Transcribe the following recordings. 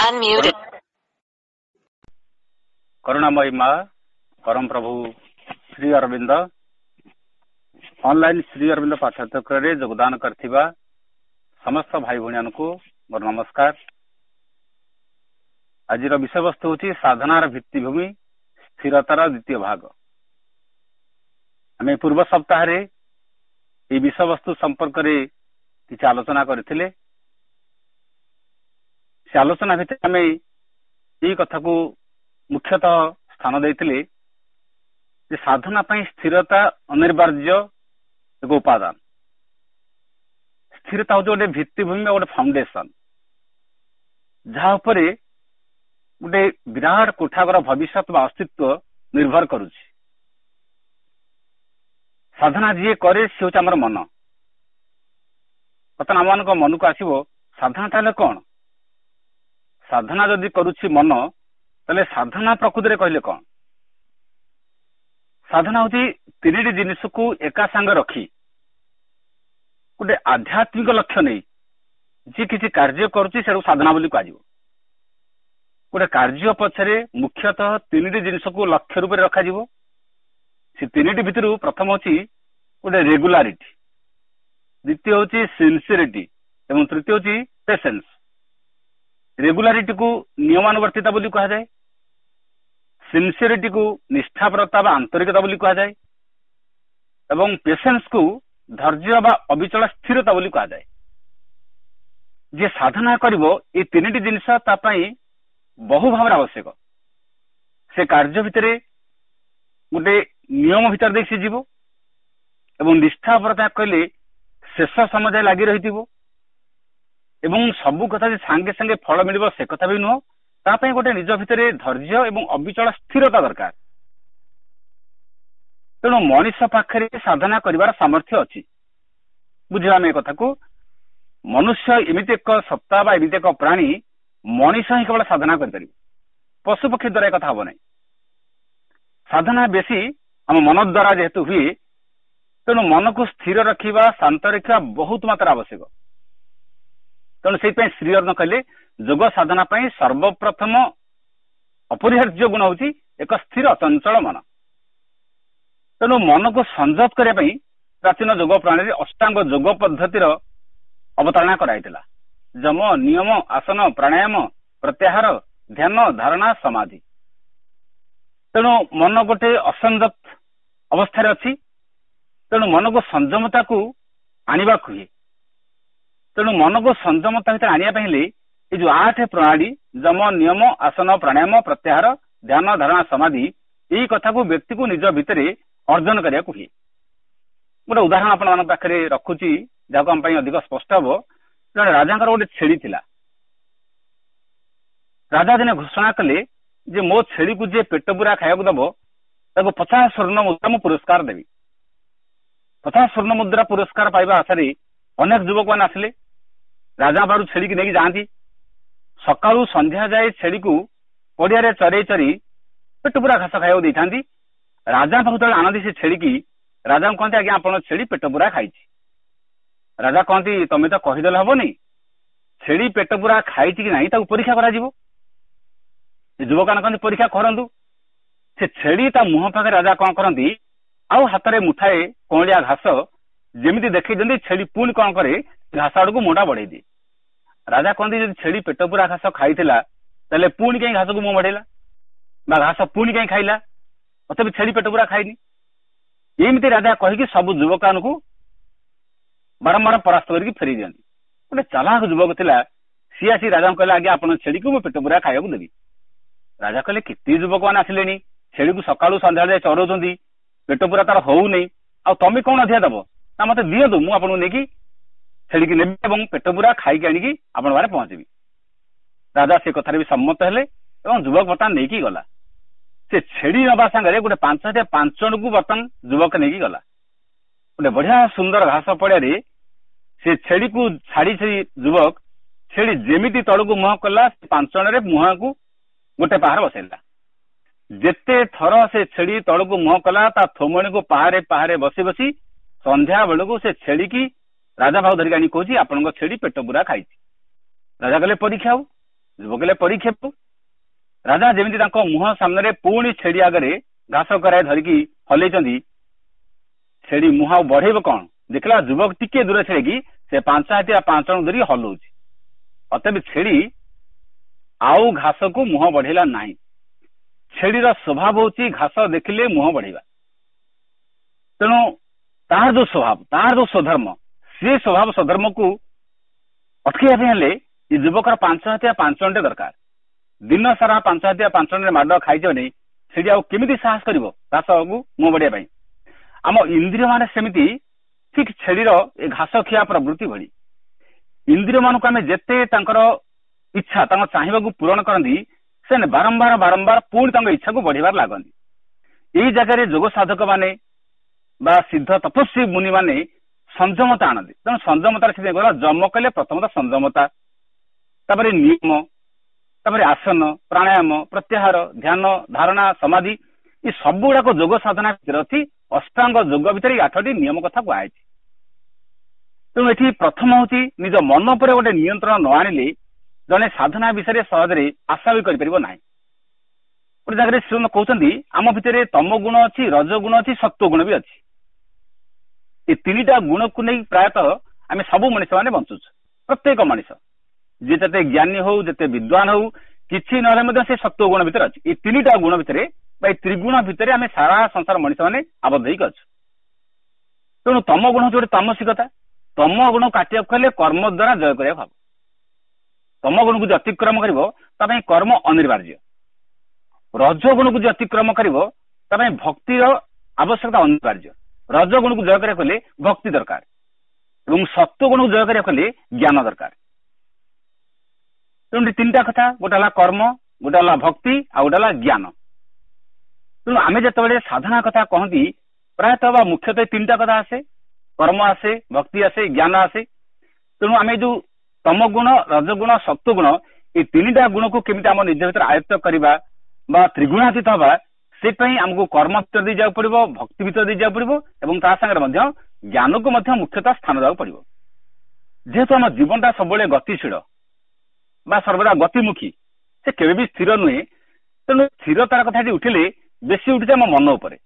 Unmuted. କରୁଣାମୟୀ ମା, ପରମ ପ୍ରଭୁ ଶ୍ରୀ ଅରବିନ୍ଦ ଅନଲାଇନ ଶ୍ରୀ ଅରବିନ୍ଦ ପାଠଚକ୍ରରେ ଯୋଗଦାନ କରିଥିବା ସମସ୍ତ ଭାଇ ଭଉଣୀମାନଙ୍କୁ ମୋର ନମସ୍କାର। ଆଜିର ବିଷୟବସ୍ତୁ ହେଉଛି ସାଧନାର ଭିତ୍ତିଭୂମି ସ୍ଥିରତାର ଦ୍ୱିତୀୟ ଭାଗ। ଆମେ ପୂର୍ବ ସପ୍ତାହରେ ଏହି ବିଷୟବସ୍ତୁ ସମ୍ପର୍କରେ କିଛି ଆଲୋଚନା କରିଥିଲେ। ସେ ଆଲୋଚନା ଭିତରେ ଆମେ ଏଇ କଥାକୁ ମୁଖ୍ୟତଃ ସ୍ଥାନ ଦେଇଥିଲେ ଯେ ସାଧନା ପାଇଁ ସ୍ଥିରତା ଅନିବାର୍ଯ୍ୟ ଏକ ଉପାଦାନ। ସ୍ଥିରତା ହଉଛି ଗୋଟେ ଭିତ୍ତିଭୂମି ବା ଗୋଟେ ଫାଉଣ୍ଡେସନ, ଯାହା ଉପରେ ଗୋଟେ ବିରାଟ କୋଠାଘର ଭବିଷ୍ୟତ ବା ଅସ୍ତିତ୍ୱ ନିର୍ଭର କରୁଛି। ସାଧନା ଯିଏ କରେ ସେ ହଉଛି ଆମର ମନ। ବର୍ତ୍ତମାନ ଆମମାନଙ୍କ ମନକୁ ଆସିବ ସାଧନା ତାହେଲେ କଣ? ସାଧନା ଯଦି କରୁଛି ମନ, ତାହେଲେ ସାଧନା ପ୍ରକୃତିରେ କହିଲେ କଣ? ସାଧନା ହଉଛି ତିନିଟି ଜିନିଷକୁ ଏକା ସାଙ୍ଗ ରଖି ଗୋଟେ ଆଧ୍ୟାତ୍ମିକ ଲକ୍ଷ୍ୟ ନେଇ ଯିଏ କିଛି କାର୍ଯ୍ୟ କରୁଛି ସେଟାକୁ ସାଧନା ବୋଲି କୁହାଯିବ। ଗୋଟେ କାର୍ଯ୍ୟ ପଛରେ ମୁଖ୍ୟତଃ ତିନିଟି ଜିନିଷକୁ ଲକ୍ଷ୍ୟ ରୂପରେ ରଖାଯିବ। ସେ ତିନିଟି ଭିତରୁ ପ୍ରଥମ ହଉଛି ଗୋଟେ ରେଗୁଲାରିଟି, ଦ୍ୱିତୀୟ ହଉଛି ସିନସିୟରିଟି ଏବଂ ତୃତୀୟ ହଉଛି ପେସେନ୍ସ। ରେଗୁଲାରିଟିକୁ ନିୟମାନୁବର୍ତ୍ତିତା ବୋଲି କୁହାଯାଏ, ସିନସିୟରିଟିକୁ ନିଷ୍ଠାପରତା ବା ଆନ୍ତରିକତା ବୋଲି କୁହାଯାଏ ଏବଂ ପେସେନ୍ସକୁ ଧୈର୍ଯ୍ୟ ବା ଅବିଚଳ ସ୍ଥିରତା ବୋଲି କୁହାଯାଏ। ଯିଏ ସାଧନା କରିବ ଏ ତିନିଟି ଜିନିଷ ତା ପାଇଁ ବହୁ ଭାବରେ ଆବଶ୍ୟକ। ସେ କାର୍ଯ୍ୟ ଭିତରେ ଗୋଟେ ନିୟମ ଭିତରେ ଦେଇ ସେ ଯିବ ଏବଂ ନିଷ୍ଠାପରତା କହିଲେ ଶେଷ ସମୟ ଯାଏ ଲାଗି ରହିଥିବ ଏବଂ ସବୁ କଥା ଯେ ସାଙ୍ଗେ ସାଙ୍ଗେ ଫଳ ମିଳିବ ସେ କଥା ବି ନୁହଁ। ତା ପାଇଁ ଗୋଟେ ନିଜ ଭିତରେ ଧୈର୍ଯ୍ୟ ଏବଂ ଅବିଚଳ ସ୍ଥିରତା ଦରକାର। ତେଣୁ ମଣିଷ ପାଖରେ ସାଧନା କରିବାର ସାମର୍ଥ୍ୟ ଅଛି। ବୁଝିବା ଆମେ ଏ କଥାକୁ, ମନୁଷ୍ୟ ଏମିତି ଏକ ସତ୍ତା ବା ଏମିତି ଏକ ପ୍ରାଣୀ, ମଣିଷ ହିଁ କେବଳ ସାଧନା କରିପାରିବ, ପଶୁ ପକ୍ଷୀ ଦ୍ୱାରା ଏ କଥା ହବ ନାହିଁ। ସାଧନା ବେଶୀ ଆମ ମନ ଦ୍ୱାରା ଯେହେତୁ ହୁଏ, ତେଣୁ ମନକୁ ସ୍ଥିର ରଖିବା, ଶାନ୍ତ ରଖିବା ବହୁତ ମାତ୍ରା ଆବଶ୍ୟକ। ତେଣୁ ସେଇଥିପାଇଁ ଶ୍ରୀ ଅରବିନ୍ଦ କହିଲେ ଯୋଗ ସାଧନା ପାଇଁ ସର୍ବପ୍ରଥମ ଅପରିହାର୍ଯ୍ୟ ଗୁଣ ହଉଛି ଏକ ସ୍ଥିର ଅଚଞ୍ଚଳ ମନ। ତେଣୁ ମନକୁ ସଂଯତ କରିବା ପାଇଁ ପ୍ରାଚୀନ ଯୋଗ ପ୍ରଣାଳୀରେ ଅଷ୍ଟାଙ୍ଗ ଯୋଗ ପଦ୍ଧତିର ଅବତାରଣା କରାଯାଇଥିଲା। ଯମ, ନିୟମ, ଆସନ, ପ୍ରାଣାୟାମ, ପ୍ରତ୍ୟାହାର, ଧ୍ୟାନ, ଧାରଣା, ସମାଧି। ତେଣୁ ମନ ଗୋଟେ ଅସଂଯତ ଅବସ୍ଥାରେ ଅଛି, ତେଣୁ ମନକୁ ସଂଯମତାକୁ ଆଣିବାକୁ ହୁଏ। ତେଣୁ ମନକୁ ସଂଯମତା ଭିତରେ ଆଣିବା ପାଇଁ ହେଲେ ଏଇ ଯୋଉ 8 ପ୍ରଣାଳୀ ଯମ, ନିୟମ, ଆସନ, ପ୍ରାଣାୟାମ, ପ୍ରତ୍ୟାହାର, ଧ୍ୟାନ, ଧାରଣା, ସମାଧି, ଏଇ କଥାକୁ ବ୍ୟକ୍ତିକୁ ନିଜ ଭିତରେ ଅର୍ଜନ କରିବାକୁ ହୁଏ। ଗୋଟେ ଉଦାହରଣ ଆପଣମାନଙ୍କ ପାଖରେ ରଖୁଛି ଯାହାକୁ ଆମ ପାଇଁ ଅଧିକ ସ୍ପଷ୍ଟ ହବ। ଜଣେ ରାଜାଙ୍କର ଗୋଟେ ଛେଳି ଥିଲା। ରାଜା ଦିନେ ଘୋଷଣା କଲେ ଯେ ମୋ ଛେଳିକୁ ଯିଏ ପେଟ ପୁରା ଖାଇବାକୁ ଦବ ତାକୁ 50 ସ୍ୱର୍ଣ୍ଣ ମୁଦ୍ରା ମୁଁ ପୁରସ୍କାର ଦେବି। 50 ସ୍ୱର୍ଣ୍ଣ ମୁଦ୍ରା ପୁରସ୍କାର ପାଇବା ଆଶାରେ ଅନେକ ଯୁବକମାନେ ଆସିଲେ। ରାଜା ପାଖରୁ ଛେଳିକି ନେଇକି ଯାଆନ୍ତି। ସକାଳୁ ସନ୍ଧ୍ୟା ଯାଏ ଛେଳିକୁ ପଡିଆରେ ଚରେଇ ଚରେଇ ପେଟ ପୁରା ଘାସ ଖାଇବାକୁ ଦେଇଥାନ୍ତି। ରାଜା ପାଖକୁ ଯେତେବେଳେ ଆଣନ୍ତି ସେ ଛେଳିକି, ରାଜାଙ୍କୁ କହନ୍ତି ଆଜ୍ଞା ଆପଣ ଛେଳି ପେଟ ପୁରା ଖାଇଛି। ରାଜା କହନ୍ତି ତମେ ତ କହିଦେଲେ ହବନି, ଛେଳି ପେଟ ପୁରା ଖାଇଛି କି ନାହିଁ ତାକୁ ପରୀକ୍ଷା କରାଯିବ। ଯୁବକମାନେ କହନ୍ତି ପରୀକ୍ଷା କରନ୍ତୁ। ସେ ଛେଳି ତା ମୁହଁ ପାଖରେ ରାଜା କଣ କରନ୍ତି, ଆଉ ହାତରେ ମୁଠାଏ କଅଁଳିଆ ଘାସ ଯେମିତି ଦେଖେଇ ଦିଅନ୍ତି, ଛେଳି ପୁଣି କଣ କରେ ଘାସ ଆଡକୁ ମୁହଁଟା ବଢେଇ ଦିଏ। ରାଜା କହନ୍ତି ଯଦି ଛେଳି ପେଟ ପୁରା ଘାସ ଖାଇଥିଲା ତାହେଲେ ପୁଣି କାହିଁ ଘାସକୁ ମୁହଁ ବଢେଇଲା ବା ଘାସ ପୁଣି କାହିଁ ଖାଇଲା, ତଥାପି ଛେଳି ପେଟ ପୁରା ଖାଇନି। ଏମିତି ରାଜା କହିକି ସବୁ ଯୁବକମାନଙ୍କୁ ବାରମ୍ବାର ପରାସ୍ତ କରିକି ଫେରେଇ ଦିଅନ୍ତି। ଗୋଟେ ଚାଲାକ ଯୁବକ ଥିଲା, ସିଏ ଆସି ରାଜାଙ୍କୁ କହିଲା ଆଜ୍ଞା ଆପଣ ଛେଳିକୁ ମୁଁ ପେଟ ପୁରା ଖାଇବାକୁ ଦେବି। ରାଜା କହିଲେ କେତେ ଯୁବକମାନେ ଆସିଲେଣି, ଛେଳିକୁ ସକାଳୁ ସନ୍ଧ୍ୟା ଯାଏ ଚରଉଛନ୍ତି, ପେଟ ପୁରା ତାର ହଉନି, ଆଉ ତମେ କଣ ଅଧିକା ଦବ? ନା ମତେ ଦିଅନ୍ତୁ, ମୁଁ ଆପଣଙ୍କୁ ନେଇକି ଛେଳିକି ନେବି ଏବଂ ପେଟ ପୁରା ଖାଇକି ଆଣିକି ଆପଣଙ୍କ ପାଖରେ ପହଞ୍ଚିବି। ରାଜା ସେ କଥାରେ ବି ସମ୍ମତ ହେଲେ ଏବଂ ଯୁବକ ବର୍ତ୍ତମାନ ନେଇକି ଗଲା। ସେ ଛେଳି ନବା ସାଙ୍ଗରେ ଗୋଟେ 5005 ଜଣକୁ ବର୍ତ୍ତମାନ ଯୁବକ ନେଇକି ଗଲା। ଗୋଟେ ବଢିଆ ସୁନ୍ଦର ଘାସ ପଡିଆରେ ସେ ଛେଳିକୁ ଛାଡି ଛାଡି ଯୁବକ ଛେଳି ଯେମିତି ତଳକୁ ମୁହଁ କଲା, ସେ 5 ଜଣରେ ମୁହଁକୁ ଗୋଟେ ପାହାର ବସେଇଲା। ଯେତେ ଥର ସେ ଛେଳି ତଳକୁ ମୁହଁ କଲା ତା ଥୋମଣିକୁ ପାହାରେ ପାହାରେ ବସି ବସି ସନ୍ଧ୍ୟା ବେଳକୁ ସେ ଛେଳିକି ରାଜା ଭାଉ ଧରିକି ଆଣି କହୁଛି ଆପଣଙ୍କ ଛେଳି ପେଟ ପୁରା ଖାଇଛି। ରାଜା କହିଲେ ପରୀକ୍ଷା ହଉ। ଯୁବକ କହିଲେ ପରୀକ୍ଷାକୁ। ରାଜା ଯେମିତି ତାଙ୍କ ମୁହଁ ସାମ୍ନାରେ ପୁଣି ଛେଳି ଆଗରେ ଘାସ କରାଇ ଧରିକି ହଲେଇଛନ୍ତି, ଛେଳି ମୁହଁ ଆଉ ବଢେଇବ କଣ, ଦେଖିଲା ଯୁବକ ଟିକେ ଦୂର ଛେଳିକି ସେ 5 ହାତିଆ 5 ଜଣ ଧରିକି ହଲଉଛି। ଅତଏବ ଛେଳି ଆଉ ଘାସକୁ ମୁହଁ ବଢେଇଲା ନାହିଁ। ଛେଳିର ସ୍ୱଭାବ ହଉଛି ଘାସ ଦେଖିଲେ ମୁହଁ ବଢେଇବା। ତେଣୁ ତାହାର ଯୋଉ ସ୍ୱଭାବ, ତାହାର ଯୋଉ ସ୍ୱଧର୍ମ, ସେ ସ୍ୱଭାବ ସ୍ୱଧର୍ମକୁ ଅଟକେଇବା ପାଇଁ ହେଲେ ଏ ଯୁବକର 5 ହାତିଆ 5 ଜଣଟେ ଦରକାର। ଦିନ ସାରା 5 ହାତିଆ 5 ଜଣରେ ମାଡ ଖାଇଯାଉନି, ସେଠି ଆଉ କେମିତି ସାହସ କରିବ ଘାସକୁ ମୁହଁ ବଢେଇବା ପାଇଁ? ଆମ ଇନ୍ଦ୍ରିୟ ମାନେ ସେମିତି ଠିକ ଛେଳିର ଏ ଘାସ ଖିଆ ପ୍ରବୃତ୍ତି ଭଳି। ଇନ୍ଦ୍ରିୟ ମାନଙ୍କୁ ଆମେ ଯେତେ ତାଙ୍କର ଇଚ୍ଛା, ତାଙ୍କ ଚାହିଁବାକୁ ପୂରଣ କରନ୍ତି, ସେମାନେ ବାରମ୍ବାର ବାରମ୍ବାର ପୁଣି ତାଙ୍କ ଇଚ୍ଛାକୁ ବଢିବାରେ ଲାଗନ୍ତି। ଏଇ ଜାଗାରେ ଯୋଗ ସାଧକ ମାନେ ବା ସିଦ୍ଧ ତପସ୍ୱୀ ମୁନି ମାନେ ସଂଯମତା ଆଣନ୍ତି। ତେଣୁ ସଂଯମତାର ସେଥିପାଇଁ କହିଲା, ଯମ କହିଲେ ପ୍ରଥମତଃ ସଂଯମତା, ତାପରେ ନିୟମ, ତାପରେ ଆସନ, ପ୍ରାଣାୟାମ, ପ୍ରତ୍ୟାହାର, ଧ୍ୟାନ, ଧାରଣା, ସମାଧି, ଏ ସବୁ ଗୁଡାକ ଯୋଗ ସାଧନା ଭିତରେ ଅଛି। ଅଷ୍ଟାଙ୍ଗ ଯୋଗ ଭିତରେ ଏଇ 8ଟି ନିୟମ କଥା କୁହାଯାଇଛି। ତେଣୁ ଏଠି ପ୍ରଥମ ହଉଛି ନିଜ ମନ ଉପରେ ଗୋଟେ ନିୟନ୍ତ୍ରଣ ନ ଆଣିଲେ ଜଣେ ସାଧନା ବିଷୟରେ ସହଜରେ ଆଶା ବି କରିପାରିବ ନାହିଁ। ଗୋଟେ ଜାଗାରେ ଶ୍ରୀଅରବିନ୍ଦ କହୁଛନ୍ତି ଆମ ଭିତରେ ତମ ଗୁଣ ଅଛି, ରଜ ଗୁଣ ଅଛି, ସତ୍ୱ ଗୁଣ ବି ଅଛି। ଏ 3ଟା ଗୁଣକୁ ନେଇ ପ୍ରାୟତଃ ଆମେ ସବୁ ମଣିଷ ମାନେ ବଞ୍ଚୁଛୁ। ପ୍ରତ୍ୟେକ ମଣିଷ ଯିଏ ଯେତେ ଜ୍ଞାନୀ ହଉ, ଯେତେ ବିଦ୍ୱାନ ହଉ, କିଛି ନହେଲେ ମଧ୍ୟ ସେ ସତ୍ୱ ଗୁଣ ଭିତରେ ଅଛି। ଏଇ 3ଟା ଗୁଣ ଭିତରେ ବା ଏଇ ତ୍ରିଗୁଣ ଭିତରେ ଆମେ ସାରା ସଂସାର ମଣିଷ ମାନେ ଆବଦ୍ଧ ହେଇକି ଅଛୁ। ତେଣୁ ତମ ଗୁଣ ହଉଛି ଗୋଟେ ତାମସିକତା। ତମ ଗୁଣ କାଟିବାକୁ ହେଲେ କର୍ମ ଦ୍ୱାରା ଜୟ କରିବାକୁ ହବ। ତମ ଗୁଣକୁ ଯଦି ଅତିକ୍ରମ କରିବ ତା ପାଇଁ କର୍ମ ଅନିବାର୍ଯ୍ୟ। ରଜ ଗୁଣକୁ ଯଦି ଅତିକ୍ରମ କରିବ ତା ପାଇଁ ଭକ୍ତିର ଆବଶ୍ୟକତା ଅନିବାର୍ଯ୍ୟ। ରଜ ଗୁଣକୁ ଜୟ କରିବାକୁ ହେଲେ ଭକ୍ତି ଦରକାର, ଏବଂ ସତ୍ୱ ଗୁଣକୁ ଜୟ କରିବାକୁ ହେଲେ ଜ୍ଞାନ ଦରକାର। ତେଣୁ 3ଟା କଥା, ଗୋଟେ ହେଲା କର୍ମ, ଗୋଟେ ହେଲା ଭକ୍ତି, ଆଉ ଗୋଟେ ହେଲା ଜ୍ଞାନ। ତେଣୁ ଆମେ ଯେତେବେଳେ ସାଧନା କଥା କହନ୍ତି, ପ୍ରାୟତଃ ବା ମୁଖ୍ୟତଃ 3ଟା କଥା ଆସେ, କର୍ମ ଆସେ, ଭକ୍ତି ଆସେ, ଜ୍ଞାନ ଆସେ। ତେଣୁ ଆମେ ଯୋଉ ତମ ଗୁଣ, ରଜଗୁଣ, ସତ୍ୱ ଗୁଣ, ଏଇ 3ଟା ଗୁଣକୁ କେମିତି ଆମ ନିଜ ଭିତରେ ଆୟତ୍ତ କରିବା ବା ତ୍ରିଗୁଣାତୀତ ହବା, ସେଥିପାଇଁ ଆମକୁ କର୍ମ ଭିତରେ ଦେଇ ଯିବାକୁ ପଡିବ, ଭକ୍ତି ଭିତରେ ଦେଇ ଯିବାକୁ ପଡିବ, ଏବଂ ତା ସାଙ୍ଗରେ ମଧ୍ୟ ଜ୍ଞାନକୁ ମଧ୍ୟ ମୁଖ୍ୟତଃ ସ୍ଥାନ ଦେବାକୁ ପଡିବ। ଯେହେତୁ ଆମ ଜୀବନଟା ସବୁବେଳେ ଗତିଶୀଳ ବା ସର୍ବଦା ଗତିମୁଖୀ, ସେ କେବେ ବି ସ୍ଥିର ନୁହେଁ। ତେଣୁ ସ୍ଥିରତାର କଥା ଏଠି ଉଠିଲେ ବେଶୀ ଉଠୁଛି ଆମ ମନ ଉପରେ।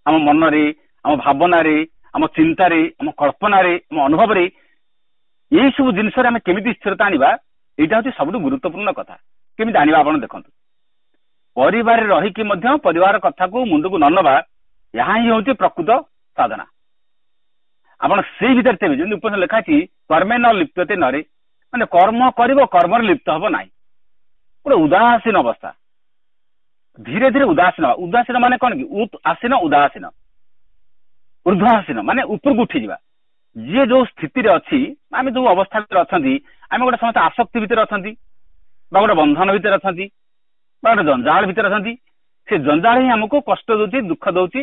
ଆମ ମନରେ, ଆମ ଭାବନାରେ, ଆମ ଚିନ୍ତାରେ, ଆମ କଳ୍ପନାରେ, ଆମ ଅନୁଭବରେ, ଏଇ ସବୁ ଜିନିଷରେ ଆମେ କେମିତି ସ୍ଥିରତା ଆଣିବା, ଏଇଟା ହଉଛି ସବୁଠୁ ଗୁରୁତ୍ୱପୂର୍ଣ୍ଣ କଥା। କେମିତି ଆଣିବା ଆପଣ ଦେଖନ୍ତୁ। ପରିବାରରେ ରହିକି ମଧ୍ୟ ପରିବାର କଥାକୁ ମୁଣ୍ଡକୁ ନ ନବା, ଏହା ହିଁ ହଉଛି ପ୍ରକୃତ ସାଧନା। ଆପଣ ସେଇ ଭିତରେ ଥିବେ, ଯେମିତି ଉପନିଷଦ ଲେଖା ଅଛି, କର୍ମେ ନ ଲିପ୍ୟତେ ନରେ, ମାନେ କର୍ମ କରିବ, କର୍ମରେ ଲିପ୍ତ ହବ ନାହିଁ। ଗୋଟେ ଉଦାସୀନ ଅବସ୍ଥା, ଧୀରେ ଧୀରେ ଉଦାସୀନ। ଉଦାସୀନ ମାନେ କଣ କି? ଉତ୍ ଆସୀନ, ଉଦାସୀନ, ଊର୍ଦ୍ଧ୍ୱାସୀନ ମାନେ ଉପରକୁ ଉଠିଯିବା। ଯିଏ ଯୋଉ ସ୍ଥିତିରେ ଅଛି, ଆମେ ଯୋଉ ଅବସ୍ଥା ଭିତରେ ଅଛନ୍ତି, ଆମେ ଗୋଟେ ସମସ୍ତେ ଆସକ୍ତି ଭିତରେ ଅଛନ୍ତି, ବା ଗୋଟେ ବନ୍ଧନ ଭିତରେ ଅଛନ୍ତି, ବା ଗୋଟେ ଜଞ୍ଜାଳ ଭିତରେ ଅଛନ୍ତି। ସେ ଜଞ୍ଜାଳ ହିଁ ଆମକୁ କଷ୍ଟ ଦଉଛି, ଦୁଃଖ ଦଉଛି।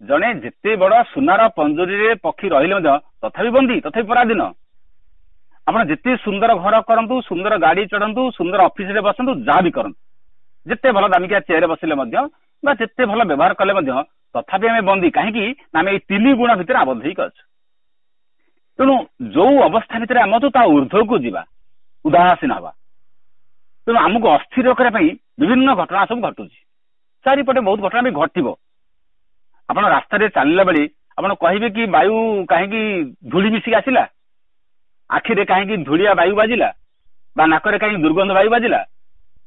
ଜଣେ ଯେତେ ବଡ ସୁନାର ପଞ୍ଜୁରୀରେ ପକ୍ଷୀ ରହିଲେ ମଧ୍ୟ ତଥାପି ବନ୍ଦୀ, ତଥାପି ପରାଧୀନ। ଆପଣ ଯେତେ ସୁନ୍ଦର ଘର କରନ୍ତୁ, ସୁନ୍ଦର ଗାଡି ଚଢନ୍ତୁ, ସୁନ୍ଦର ଅଫିସରେ ବସନ୍ତୁ, ଯାହା ବି କରନ୍ତୁ, ଯେତେ ଭଲ ଦାମିକିଆ ଚେୟାରରେ ବସିଲେ ମଧ୍ୟ ବା ଯେତେ ଭଲ ବ୍ୟବହାର କଲେ ମଧ୍ୟ ତଥାପି ଆମେ ବନ୍ଦୀ। କାହିଁକି ନା ଆମେ ଏଇ 3 ଗୁଣ ଭିତରେ ଆବଦ୍ଧ ହେଇକି ଅଛୁ। ତେଣୁ ଯୋଉ ଅବସ୍ଥା ଭିତରେ ଆମେ ଅଛୁ ତା ଉର୍ଦ୍ଧ୍ୱକୁ ଯିବା, ଉଦାସୀନ ହବା। ତେଣୁ ଆମକୁ ଅସ୍ଥିର କରିବା ପାଇଁ ବିଭିନ୍ନ ଘଟଣା ସବୁ ଘଟୁଛି, ଚାରିପଟେ ବହୁତ ଘଟଣା ବି ଘଟିବ। ଆପଣ ରାସ୍ତାରେ ଚାଲିଲା ବେଳେ ଆପଣ କହିବେ କି ବାୟୁ କାହିଁକି ଧୂଳି ମିଶିକି ଆସିଲା, ଆଖିରେ କାହିଁକି ଧୂଳିଆ ବାୟୁ ବାଜିଲା, ବା ନାକରେ କାହିଁକି ଦୁର୍ଗନ୍ଧ ବାୟୁ ବାଜିଲା।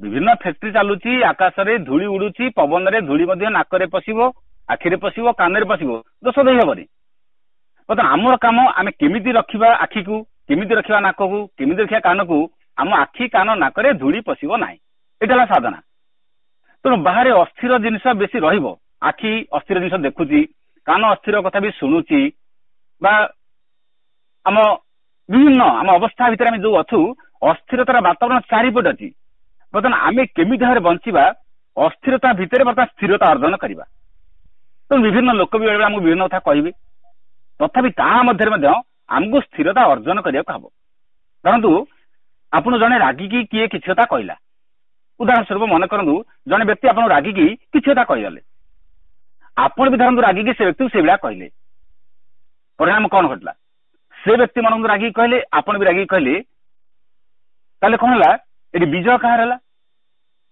ବିଭିନ୍ନ ଫ୍ୟାକ୍ଟ୍ରି ଚାଲୁଛି, ଆକାଶରେ ଧୂଳି ଉଡୁଛି, ପବନରେ ଧୂଳି ମଧ୍ୟ ନାକରେ ପଶିବ, ଆଖିରେ ପଶିବ, କାନରେ ପଶିବ, ଦୋଷ ଦେଇ ହବନି। ବର୍ତ୍ତମାନ ଆମର କାମ ଆମେ କେମିତି ରଖିବା ଆଖିକୁ, କେମିତି ରଖିବା ନାକକୁ, କେମିତି ରଖିବା କାନକୁ, ଆମ ଆଖି କାନ ନାକରେ ଧୂଳି ପଶିବ ନାହିଁ, ଏଇଟା ହେଲା ସାଧନା। ତେଣୁ ବାହାରେ ଅସ୍ଥିର ଜିନିଷ ବେଶୀ ରହିବ, ଆଖି ଅସ୍ଥିର ଜିନିଷ ଦେଖୁଛି, କାନ ଅସ୍ଥିର କଥା ବି ଶୁଣୁଛି, ବା ଆମ ବିଭିନ୍ନ ଆମ ଅବସ୍ଥା ଭିତରେ ଆମେ ଯୋଉ ଅଛୁ, ଅସ୍ଥିରତାର ବାତାବରଣ ଚାରିପଟେ ଅଛି। ବର୍ତ୍ତମାନ ଆମେ କେମିତି ଭାବରେ ବଞ୍ଚିବା, ଅସ୍ଥିରତା ଭିତରେ ବର୍ତ୍ତମାନ ସ୍ଥିରତା ଅର୍ଜନ କରିବା। ତେଣୁ ବିଭିନ୍ନ ଲୋକ ବି ବେଳେବେଳେ ଆମକୁ ବିଭିନ୍ନ କଥା କହିବେ, ତଥାପି ତା ମଧ୍ୟରେ ମଧ୍ୟ ଆମକୁ ସ୍ଥିରତା ଅର୍ଜନ କରିବାକୁ ହବ। ଧରନ୍ତୁ ଆପଣ ଜଣେ ରାଗିକି କିଏ କିଛି କଥା କହିଲା, ଉଦାହରଣ ସ୍ୱରୂପ ମନେ କରନ୍ତୁ ଜଣେ ବ୍ୟକ୍ତି ଆପଣଙ୍କୁ ରାଗିକି କିଛି କଥା କହିଗଲେ, ଆପଣ ବି ଧରନ୍ତୁ ରାଗିକି ସେ ବ୍ୟକ୍ତିକୁ ସେଇଭଳିଆ କହିଲେ, ପରିଣାମ କଣ ଘଟିଲା? ସେ ବ୍ୟକ୍ତି ମନକୁ ରାଗିକି କହିଲେ, ଆପଣ ବି ରାଗିକି କହିଲେ, ତାହେଲେ କଣ ହେଲା? ଏଠି ବିଜୟ କାହାର ହେଲା?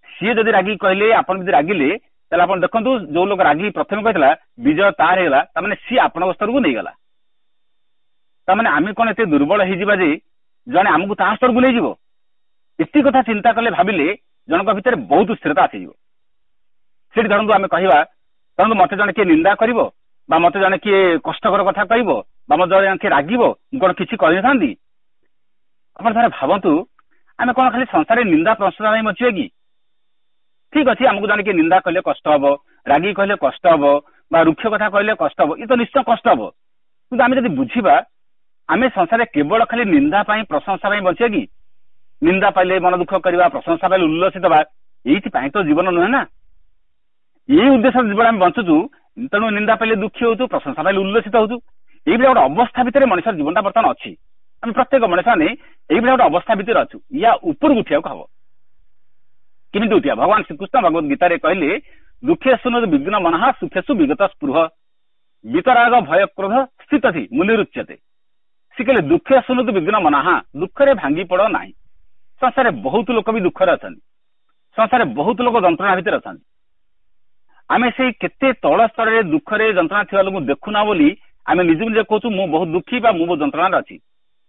ସିଏ ଯଦି ରାଗିକି କହିଲେ, ଆପଣ ଯଦି ରାଗିଲେ, ତାହେଲେ ଆପଣ ଦେଖନ୍ତୁ ଯୋଉ ଲୋକ ରାଗିକି ପ୍ରଥମେ କହିଥିଲା ବିଜୟ ତାର ହେଇଗଲା, ତାମାନେ ସିଏ ଆପଣଙ୍କ ସ୍ତରକୁ ନେଇଗଲା। ତାମାନେ ଆମେ କଣ ଏତେ ଦୁର୍ବଳ ହେଇଯିବା ଯେ ଜଣେ ଆମକୁ ତା ସ୍ତରକୁ ନେଇଯିବ? ଏତିକି କଥା ଚିନ୍ତା କଲେ, ଭାବିଲେ ଜଣଙ୍କ ଭିତରେ ବହୁତ ସ୍ଥିରତା ଆସିଯିବ। ସେଠି ଧରନ୍ତୁ ଆମେ କହିବା, ଧରନ୍ତୁ ମତେ ଜଣେ କିଏ ନିନ୍ଦା କରିବ ବା ମତେ ଜଣେ କିଏ କଷ୍ଟକର କଥା କହିବ ବା ମତେ ଜଣେ କିଏ ରାଗିବ, ମୁଁ କଣ କିଛି କହିନଥାନ୍ତି? ଆପଣ ଥରେ ଭାବନ୍ତୁ, ଆମେ କଣ ଖାଲି ସଂସାରରେ ନିନ୍ଦା ପ୍ରଶଂସା ପାଇଁ ବଞ୍ଚିବା କି? ଠିକ ଅଛି, ଆମକୁ ଜଣେ କିଏ ନିନ୍ଦା କଲେ କଷ୍ଟ ହବ, ରାଗି କହିଲେ କଷ୍ଟ ହବ, ବା ରୁକ୍ଷ କଥା କହିଲେ କଷ୍ଟ ହବ, ଇଏ ତ ନିଶ୍ଚୟ କଷ୍ଟ ହବ। କିନ୍ତୁ ଆମେ ଯଦି ବୁଝିବା, ଆମେ ସଂସାରରେ କେବଳ ଖାଲି ନିନ୍ଦା ପାଇଁ ପ୍ରଶଂସା ପାଇଁ ବଞ୍ଚିବା କି? ନିନ୍ଦା ପାଇଲେ ମନ ଦୁଃଖ କରିବା, ପ୍ରଶଂସା ପାଇଲେ ଉଲ୍ଲସିତ ହେବା, ଏଇଥିପାଇଁ ତ ଜୀବନ ନୁହେଁ ନା। ଏଇ ଉଦ୍ଦେଶ୍ୟରେ ଜୀବନ ଆମେ ବଞ୍ଚୁଛୁ। ତେଣୁ ନିନ୍ଦା ପାଇଲେ ଦୁଃଖୀ ହଉଛୁ, ପ୍ରଶଂସା ପାଇଲେ ଉଲ୍ଲସିତ ହଉଛୁ। ଏଇଭଳିଆ ଗୋଟେ ଅବସ୍ଥା ଭିତରେ ମଣିଷର ଜୀବନଟା ବର୍ତ୍ତମାନ ଅଛି। ଆମେ ପ୍ରତ୍ୟେକ ମଣିଷ ମାନେ ଏଇଭଳିଆ ଗୋଟେ ଅବସ୍ଥା ଭିତରେ ଅଛୁ। ୟା ଉପରକୁ ଉଠିବାକୁ ହବ। କେମିତି ଉଠିବା? ଭଗବାନ ଶ୍ରୀକୃଷ୍ଣ ଭଗବତ ଗୀତାରେ କହିଲେ, ଦୁଃଖେଷୁ ବିଘ୍ନ ମନଃ ସୁଖେଷୁ ବିଗତ ସ୍ପୃହ ବିତରାଗ ଭୟ କ୍ରୋଧ ସ୍ଥିତଧି ମୁନିରୁଚ୍ୟତେ। ସେ କହିଲେ ଦୁଃଖେଷୁ ବିଘ୍ନ ମନଃ, ଦୁଃଖରେ ଭାଙ୍ଗି ପଡ ନାହିଁ। ସଂସାରରେ ବହୁତ ଲୋକ ବି ଦୁଃଖରେ ଅଛନ୍ତି, ସଂସାରରେ ବହୁତ ଲୋକ ଯନ୍ତ୍ରଣା ଭିତରେ ଅଛନ୍ତି। ଆମେ ସେଇ କେତେ ତଳ ସ୍ତରରେ ଦୁଃଖରେ ଯନ୍ତ୍ରଣା ଥିବା ଲୋକଙ୍କୁ ଦେଖୁନା ବୋଲି ଆମେ ନିଜକୁ ନିଜେ କହୁଛୁ ମୁଁ ବହୁତ ଦୁଃଖୀ ବା ମୁଁ ବହୁତ ଯନ୍ତ୍ରଣାରେ ଅଛି।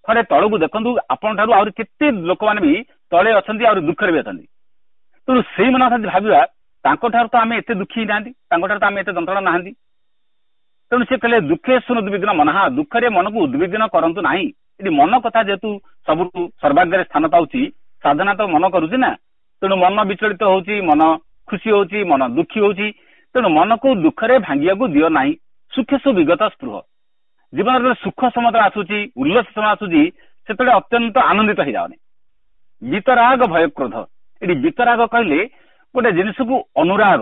ଥରେ ତଳକୁ ଦେଖନ୍ତୁ, ଆପଣଙ୍କ ଠାରୁ ଆହୁରି କେତେ ଲୋକମାନେ ବି ତଳେ ଅଛନ୍ତି, ଆହୁରି ଦୁଃଖରେ ବି ଅଛନ୍ତି। ତେଣୁ ସେଇମାନଙ୍କ ଯଦି ଭାବିବା, ତାଙ୍କ ଠାରୁ ତ ଆମେ ଏତେ ଦୁଃଖୀ ନାହାନ୍ତି, ତାଙ୍କ ଠାରୁ ତ ଆମେ ଏତେ ଯନ୍ତ୍ରଣା ନାହାନ୍ତି। ତେଣୁ ସେ କହିଲେ ଦୁଃଖେ ଶୁଣ ଉଦ୍ବିଗ୍ନ ମନଃ, ଦୁଃଖରେ ମନକୁ ଉଦ୍ବିଗ୍ନ କରନ୍ତୁ ନାହିଁ। ଏଠି ମନ କଥା ଯେହେତୁ ସବୁଠୁ ସର୍ବାଗ୍ରେ ସ୍ଥାନ ପାଉଛି, ସାଧନା ତ ମନ କରୁଛି ନା, ତେଣୁ ମନ ବିଚଳିତ ହଉଛି, ମନ ଖୁସି ହଉଛି, ମନ ଦୁଃଖୀ ହଉଛି। ତେଣୁ ମନକୁ ଦୁଃଖରେ ଭାଙ୍ଗିବାକୁ ଦିଅ ନାହିଁ। ସୁଖେଷୁ ବିଗତ ସ୍ପୃହ, ଜୀବନରେ ସୁଖ ସମୟ ଆସୁଛି, ଉଲ୍ଲାସ ସମୟ ଆସୁଛି, ସେତେବେଳେ ଅତ୍ୟନ୍ତ ଆନନ୍ଦିତ ହେଇଯାଅନି। ବିତରାଗ ଭୟ କ୍ରୋଧ, ଏଠି ବିତରାଗ କହିଲେ ଗୋଟେ ଜିନିଷକୁ ଅନୁରାଗ,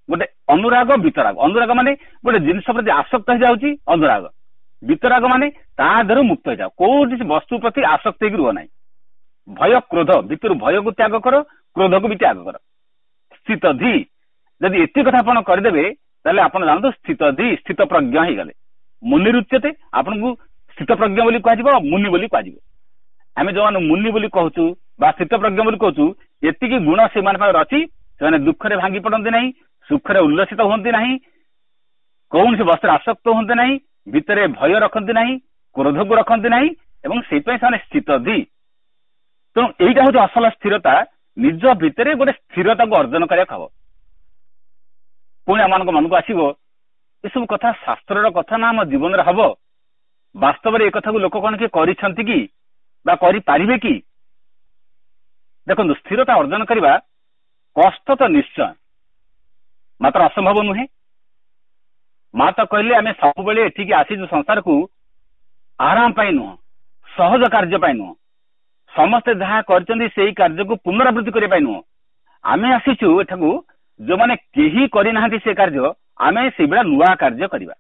ଗୋଟେ ଅନୁରାଗ ବିତରାଗ। ଅନୁରାଗ ମାନେ ଗୋଟେ ଜିନିଷ ପ୍ରତି ଆସକ୍ତ ହେଇଯାଉଛି ଅନୁରାଗ। ବିତରାଗ ମାନେ ତା ଦେହରୁ ମୁକ୍ତ ହେଇଯାଅ, କୌଣସି ବସ୍ତୁ ପ୍ରତି ଆସକ୍ତ ହେଇକି ରୁହ ନାହିଁ। ଭୟ କ୍ରୋଧ, ଭିତରୁ ଭୟକୁ ତ୍ୟାଗ କର, କ୍ରୋଧକୁ ବି ତ୍ୟାଗ କର। ସ୍ଥିତଧି, ଯଦି ଏତିକି କଥା ଆପଣ କରିଦେବେ ତାହେଲେ ଆପଣ ଜାଣନ୍ତୁ ସ୍ଥିତଧି, ସ୍ଥିତ ପ୍ରଜ୍ଞ ହେଇଗଲେ। ମୁନିରୁଚ୍ୟତେ, ଆପଣଙ୍କୁ ସ୍ଥିତ ପ୍ରଜ୍ଞ ବୋଲି କୁହାଯିବ, ମୁନି ବୋଲି କୁହାଯିବ। ଆମେ ଯୋଉମାନେ ମୁନି ବୋଲି କହୁଛୁ ବା ସ୍ଥିତ ପ୍ରଜ୍ଞ ବୋଲି କହୁଛୁ, ଏତିକି ଗୁଣ ସେମାନଙ୍କ ପାଖରେ ଅଛି। ସେମାନେ ଦୁଃଖରେ ଭାଙ୍ଗି ପଡନ୍ତି ନାହିଁ, ସୁଖରେ ଉଲ୍ଲସିତ ହୁଅନ୍ତି ନାହିଁ, କୌଣସି ବସ୍ତୁରେ ଆସକ୍ତ ହୁଅନ୍ତି ନାହିଁ, ଭିତରେ ଭୟ ରଖନ୍ତି ନାହିଁ, କ୍ରୋଧକୁ ରଖନ୍ତି ନାହିଁ, ଏବଂ ସେଇଥିପାଇଁ ସେମାନେ ସ୍ଥିତଧି। ତେଣୁ ଏଇଟା ହଉଛି ଅସଲ ସ୍ଥିରତା। ନିଜ ଭିତରେ ଗୋଟେ ସ୍ଥିରତାକୁ ଅର୍ଜନ କରିବାକୁ ହବ। ପୁଣି ଆମମାନଙ୍କ ମନକୁ ଆସିବ, ଏସବୁ କଥା ଶାସ୍ତ୍ରର କଥା ନା ଆମ ଜୀବନରେ ହବ? ବାସ୍ତବରେ ଏ କଥାକୁ ଲୋକ କଣ କିଏ କରିଛନ୍ତି କି ବା କରିପାରିବେ କି? ଦେଖନ୍ତୁ, ସ୍ଥିରତା ଅର୍ଜନ କରିବା କଷ୍ଟ ତ ନିଶ୍ଚୟ, ମାତ୍ର ଅସମ୍ଭବ ନୁହେଁ। ମା ତ କହିଲେ ଆମେ ସବୁବେଳେ ଏଠିକି ଆସିଛୁ ସଂସାରକୁ ଆରାମ ପାଇଁ ନୁହଁ, ସହଜ କାର୍ଯ୍ୟ ପାଇଁ ନୁହଁ, ସମସ୍ତେ ଯାହା କରିଛନ୍ତି ସେଇ କାର୍ଯ୍ୟକୁ ପୁନରାବୃତ୍ତି କରିବା ପାଇଁ ନୁହଁ। ଆମେ ଆସିଛୁ ଏଠାକୁ ଯୋଉମାନେ କେହି କରିନାହାନ୍ତି ସେ କାର୍ଯ୍ୟ, ଆମେ ସେଇଭଳିଆ ନୂଆ କାର୍ଯ୍ୟ କରିବା।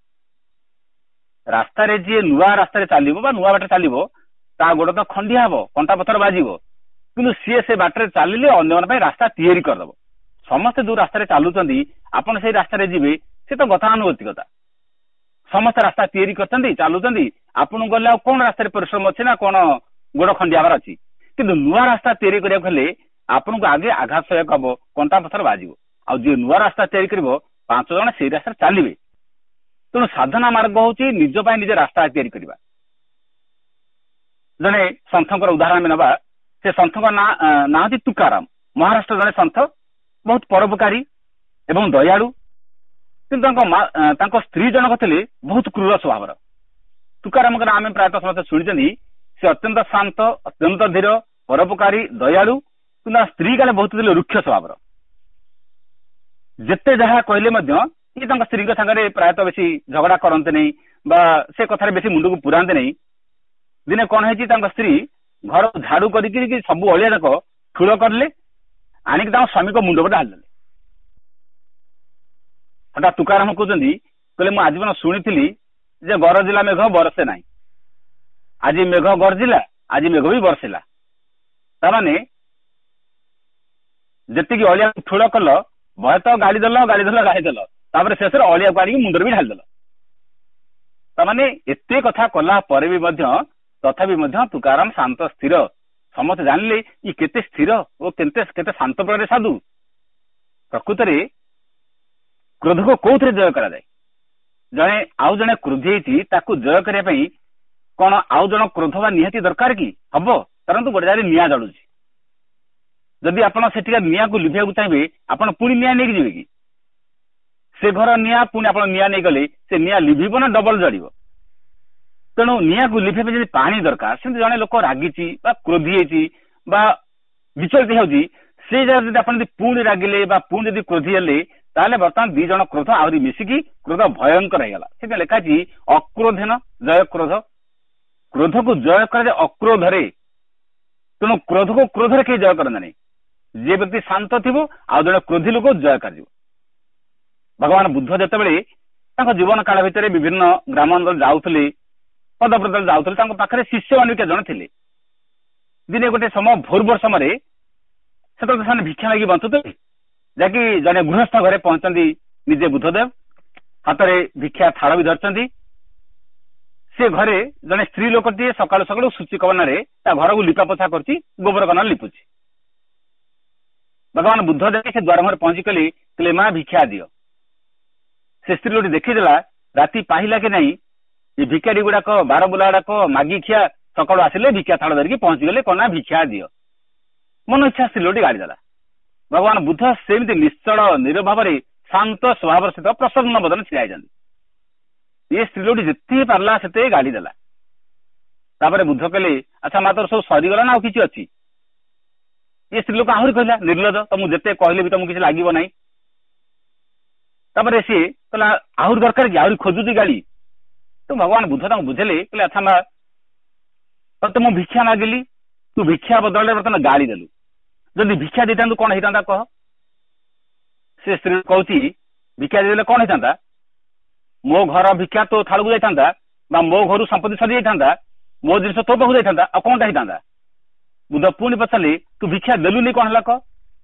ରାସ୍ତାରେ ଯିଏ ନୂଆ ରାସ୍ତାରେ ଚାଲିବ ବା ନୂଆ ବାଟରେ ଚାଲିବ, ତା ଗୋଡ ତ ଖଣ୍ଡିଆ ହବ, କଣ୍ଟା ପଥର ବାଜିବ, କିନ୍ତୁ ସିଏ ସେ ବାଟରେ ଚାଲିଲେ ଅନ୍ୟମାନଙ୍କ ପାଇଁ ରାସ୍ତା ତିଆରି କରିଦବ। ସମସ୍ତେ ଯୋଉ ରାସ୍ତାରେ ଚାଲୁଛନ୍ତି ଆପଣ ସେଇ ରାସ୍ତାରେ ଯିବେ, ସେ ତ ଗତାନୁଗତିକତା। ସମସ୍ତେ ରାସ୍ତା ତିଆରି କରିଛନ୍ତି, ଚାଲୁଛନ୍ତି, ଆପଣଙ୍କୁ ଗଲେ ଆଉ କଣ ରାସ୍ତାରେ ପରିଶ୍ରମ ଅଛି ନା କଣ ଗୋଡ ଖଣ୍ଡିଆ ହବାର ଅଛି? କିନ୍ତୁ ନୂଆ ରାସ୍ତା ତିଆରି କରିବାକୁ ହେଲେ ଆପଣଙ୍କୁ ଆଗେ ଆଘାତ ସହିବାକୁ ହବ, କଣ୍ଟା ପଥର ବାଜିବ। ଆଉ ଯିଏ ନୂଆ ରାସ୍ତା ତିଆରି କରିବ, 5 ଜଣ ସେଇ ରାସ୍ତାରେ ଚାଲିବେ। ତେଣୁ ସାଧନା ମାର୍ଗ ହଉଛି ନିଜ ପାଇଁ ନିଜ ରାସ୍ତା ତିଆରି କରିବା। ଜଣେ ସନ୍ଥଙ୍କର ଉଦାହରଣ ଆମେ ନେବା। ସେ ସନ୍ଥଙ୍କ ନାଁ ହଉଛି ତୁକାରାମ। ମହାରାଷ୍ଟ୍ର ଜଣେ ସନ୍ଥ, ବହୁତ ପରୋପକାରୀ ଏବଂ ଦୟାଳୁ। କିନ୍ତୁ ତାଙ୍କ ସ୍ତ୍ରୀ ଜଣକ ଥିଲେ ବହୁତ କ୍ରୂର ସ୍ୱଭାବର। ତୁକାରାମଙ୍କ ନାଁ ଆମେ ପ୍ରାୟତଃ ସମସ୍ତେ ଶୁଣିଛନ୍ତି। ସେ ଅତ୍ୟନ୍ତ ଶାନ୍ତ, ଅତ୍ୟନ୍ତ ଧୀର, ପରୋପକାରୀ, ଦୟାଳୁ, କିନ୍ତୁ ତାଙ୍କ ସ୍ତ୍ରୀ କାଳେ ବହୁତ ଥିଲେ ରୁକ୍ଷ ସ୍ୱଭାବର। ଯେତେ ଯାହା କହିଲେ ମଧ୍ୟ ଇଏ ତାଙ୍କ ସ୍ତ୍ରୀଙ୍କ ସାଙ୍ଗରେ ପ୍ରାୟତଃ ବେଶୀ ଝଗଡା କରନ୍ତି ନାହିଁ ବା ସେ କଥାରେ ବେଶୀ ମୁଣ୍ଡକୁ ପୁରାନ୍ତି ନାହିଁ। ଦିନେ କଣ ହେଇଛି, ତାଙ୍କ ସ୍ତ୍ରୀ ଘର ଝାଡୁ କରିକି ସବୁ ଅଳିଆ ଯାକ ଠୁଳ କରିଲେ, ଆଣିକି ତାଙ୍କ ସ୍ୱାମୀଙ୍କ ମୁଣ୍ଡ ଉପରେ ଢାଳିଦେଲେ। ହଠାତ୍ ତୁକାରାମ କହୁଛନ୍ତି, କହିଲେ ମୁଁ ଆଜୀବନ ଶୁଣିଥିଲି ଯେ ଗରଜିଲା ମେଘ ବରସେ ନାହିଁ, ଆଜି ମେଘ ଗର୍ଜିଲା, ଆଜି ମେଘ ବି ବର୍ଷିଲା। ତାମାନେ ଯେତିକି ଅଳିଆ ଠୁଳ କଲ, ଭୟ ତ ଗାଳି ଦେଲ, ଗାଳି ଦେଲ, ଗାଳି ଦେଲ, ତାପରେ ଶେଷରେ ଅଳିଆକୁ ଆଣିକି ମୁଣ୍ଡରେ ବି ଢାଳିଦେଲ। ତାମାନେ ଏତେ କଥା କଲା ପରେ ବି ମଧ୍ୟ, ତଥାପି ମଧ୍ୟ ତୁକାରାମ ଶାନ୍ତ ସ୍ଥିର, ସମସ୍ତେ ଜାଣିଲେ ଇଏ କେତେ ସ୍ଥିର ଓ କେତେ କେତେ ଶାନ୍ତ ପ୍ରକାର ସାଧୁ। ପ୍ରକୃତରେ କ୍ରୋଧକୁ କୋଉଥିରେ ଜୟ କରାଯାଏ? ଜଣେ ଆଉ ଜଣେ କ୍ରୋଧି ହେଇଛି, ତାକୁ ଜୟ କରିବା ପାଇଁ କଣ ଆଉ ଜଣ କ୍ରୋଧ ବା ନିହାତି ଦରକାର କି? ହବ। ଧରନ୍ତୁ ଗୋଟେ ଜାଗାରେ ନିଆଁ ଜଳୁଛି, ଯଦି ଆପଣ ସେଠିକା ନିଆଁକୁ ଲିଭିବାକୁ ଚାହିଁବେ, ଆପଣ ପୁଣି ନିଆଁ ନେଇକି ଯିବେ କି? ସେ ଘର ନିଆଁ ପୁଣି ଆପଣ ନିଆଁ ନେଇଗଲେ ସେ ନିଆଁ ଲିଭିବ ନା ଡବଲ ଜଳିବ? ତେଣୁ ନିଆଁକୁ ଲିଭିବା ପାଇଁ ଯଦି ପାଣି ଦରକାର, ସେମିତି ଜଣେ ଲୋକ ରାଗିଛି ବା କ୍ରୋଧି ହେଇଛି ବା ବିଚଳିତ ହେଉଛି, ସେଇ ଜାଗାରେ ଯଦି ଆପଣ ଯଦି ପୁଣି ରାଗିଲେ ବା ପୁଣି ଯଦି କ୍ରୋଧି ହେଲେ, ତାହେଲେ ବର୍ତ୍ତମାନ ଦି ଜଣ କ୍ରୋଧ ଆହୁରି ମିଶିକି କ୍ରୋଧ ଭୟଙ୍କର ହେଇଗଲା। ସେଥିପାଇଁ ଲେଖା ଅଛି ଅକ୍ରୋଧେନ ଜୟ କ୍ରୋଧ। କ୍ରୋଧକୁ ଜୟ କରାଯାଏ ଅକ୍ରୋଧରେ। ତେଣୁ କ୍ରୋଧକୁ କ୍ରୋଧରେ କେହି ଜୟ କରନ୍ତି ନାହିଁ। ଯିଏ ବ୍ୟକ୍ତି ଶାନ୍ତ ଥିବ, ଆଉ ଜଣେ କ୍ରୋଧି ଲୋକ ଜୟ କରାଯିବ। ଭଗବାନ ବୁଦ୍ଧ ଯେତେବେଳେ ତାଙ୍କ ଜୀବନ କାଳ ଭିତରେ ବିଭିନ୍ନ ଗ୍ରାମାଞ୍ଚଳ ଯାଉଥିଲେ, ପଦପ୍ରଦରେ ଯାଉଥିଲେ, ତାଙ୍କ ପାଖରେ ଶିଷ୍ୟମାନେ ବି ଜଣେ ଥିଲେ। ଦିନେ ଗୋଟେ ସମୟ ଭୋର ଭୋର ସମୟରେ, ସେତେବେଳେ ସେମାନେ ଭିକ୍ଷା ମାଗି ବଞ୍ଚୁଥିଲେ, ଯାହାକି ଜଣେ ଗୃହସ୍ଥ ଘରେ ପହଞ୍ଚନ୍ତି ନିଜେ ବୁଦ୍ଧଦେବ, ହାତରେ ଭିକ୍ଷା ଥାଳ ବି ଧରିଛନ୍ତି। ସେ ଘରେ ଜଣେ ସ୍ତ୍ରୀ ଲୋକଟିଏ ସକାଳୁ ସକାଳୁ ସୂଚି କବନାରେ ତା ଘରକୁ ଲିପା ପୋଛା କରୁଛି, ଗୋବର କନା ଲିପୁଛି। ଭଗବାନ ବୁଦ୍ଧ ଦେଖି ସେ ଦ୍ୱାର ମୁହଁରେ ପହଞ୍ଚି କହିଲେ, ମା ଭିକ୍ଷା ଦିଅ। ସେ ସ୍ତ୍ରୀ ଲୋକଟି ଦେଖିଦେଲା, ରାତି ପାହିଲା କି ନାହିଁ, ଏ ଭିକାରୀ ଗୁଡାକ, ବାରବୁଲା ଗୁଡାକ ମାଗି ଖିଆ ସକାଳୁ ଆସିଲେ, ଭିକ୍ଷା ଥାଳ ଧରିକି ପହଞ୍ଚିଗଲେ, କନା ଭିକ୍ଷା ଦିଅ। ମନ ଇଚ୍ଛା ସ୍ତ୍ରୀ ଲୋକଟି ଗାଳି ଦେଲା। ଭଗବାନ ବୁଦ୍ଧ ସେମିତି ନିଶ୍ଚଳ ନିରଭାବରେ ଶାନ୍ତ ସ୍ୱଭାବର ସହିତ ପ୍ରସନ୍ନ ବଦନ ଛିଡା ହେଇଛନ୍ତି। ଏ ସ୍ତ୍ରୀ ଲୋକଟି ଯେତିକି ପାରିଲା ସେତେ ଗାଳି ଦେଲା। ତାପରେ ବୁଦ୍ଧ କହିଲେ, ଆଚ୍ଛା ମା, ତୋର ସବୁ ସରିଗଲା ନା ଆଉ କିଛି ଅଛି? ଏ ସ୍ତ୍ରୀ ଲୋକ ଆହୁରି କହିଲା, ନିର୍ଲଜ, ତମକୁ ଯେତେ କହିଲେ ବି ତମକୁ କିଛି ଲାଗିବ ନାହିଁ। ତାପରେ ସିଏ କହିଲା, ଆହୁରି ଦରକାର କି? ଆହୁରି ଖୋଜୁଛି ଗାଳି। ତ ଭଗବାନ ବୁଦ୍ଧ ତାଙ୍କୁ ବୁଝେଇଲେ, କହିଲେ, ଆଚ୍ଛା ମା, ତତେ ମୁଁ ଭିକ୍ଷା ମାଗିଲି, ତୁ ଭିକ୍ଷା ବଦଳରେ ବର୍ତ୍ତମାନ ଗାଳି ଦେଲୁ। ଯଦି ଭିକ୍ଷା ଦେଇଥାନ୍ତୁ କଣ ହେଇଥାନ୍ତା କହ? ସେ ସ୍ତ୍ରୀ କହୁଛି, ଭିକ୍ଷା ଦେଇଦେଲେ କଣ ହେଇଥାନ୍ତା? ମୋ ଘର ଭିକ୍ଷା ତୋ ଥାଳକୁ ଯାଇଥାନ୍ତା, ବା ମୋ ଘରୁ ସମ୍ପତ୍ତି ସରି ଯାଇଥାନ୍ତା, ମୋ ଜିନିଷ ତୋ ପାଖକୁ ଯାଇଥାନ୍ତା, ଆଉ କଣଟା ହେଇଥାନ୍ତା? ବୁଦ୍ଧ ପୁଣି ପଚାରିଲେ, ତୁ ଭିକ୍ଷା ଦେଲୁନି କଣ ହେଲା କହ?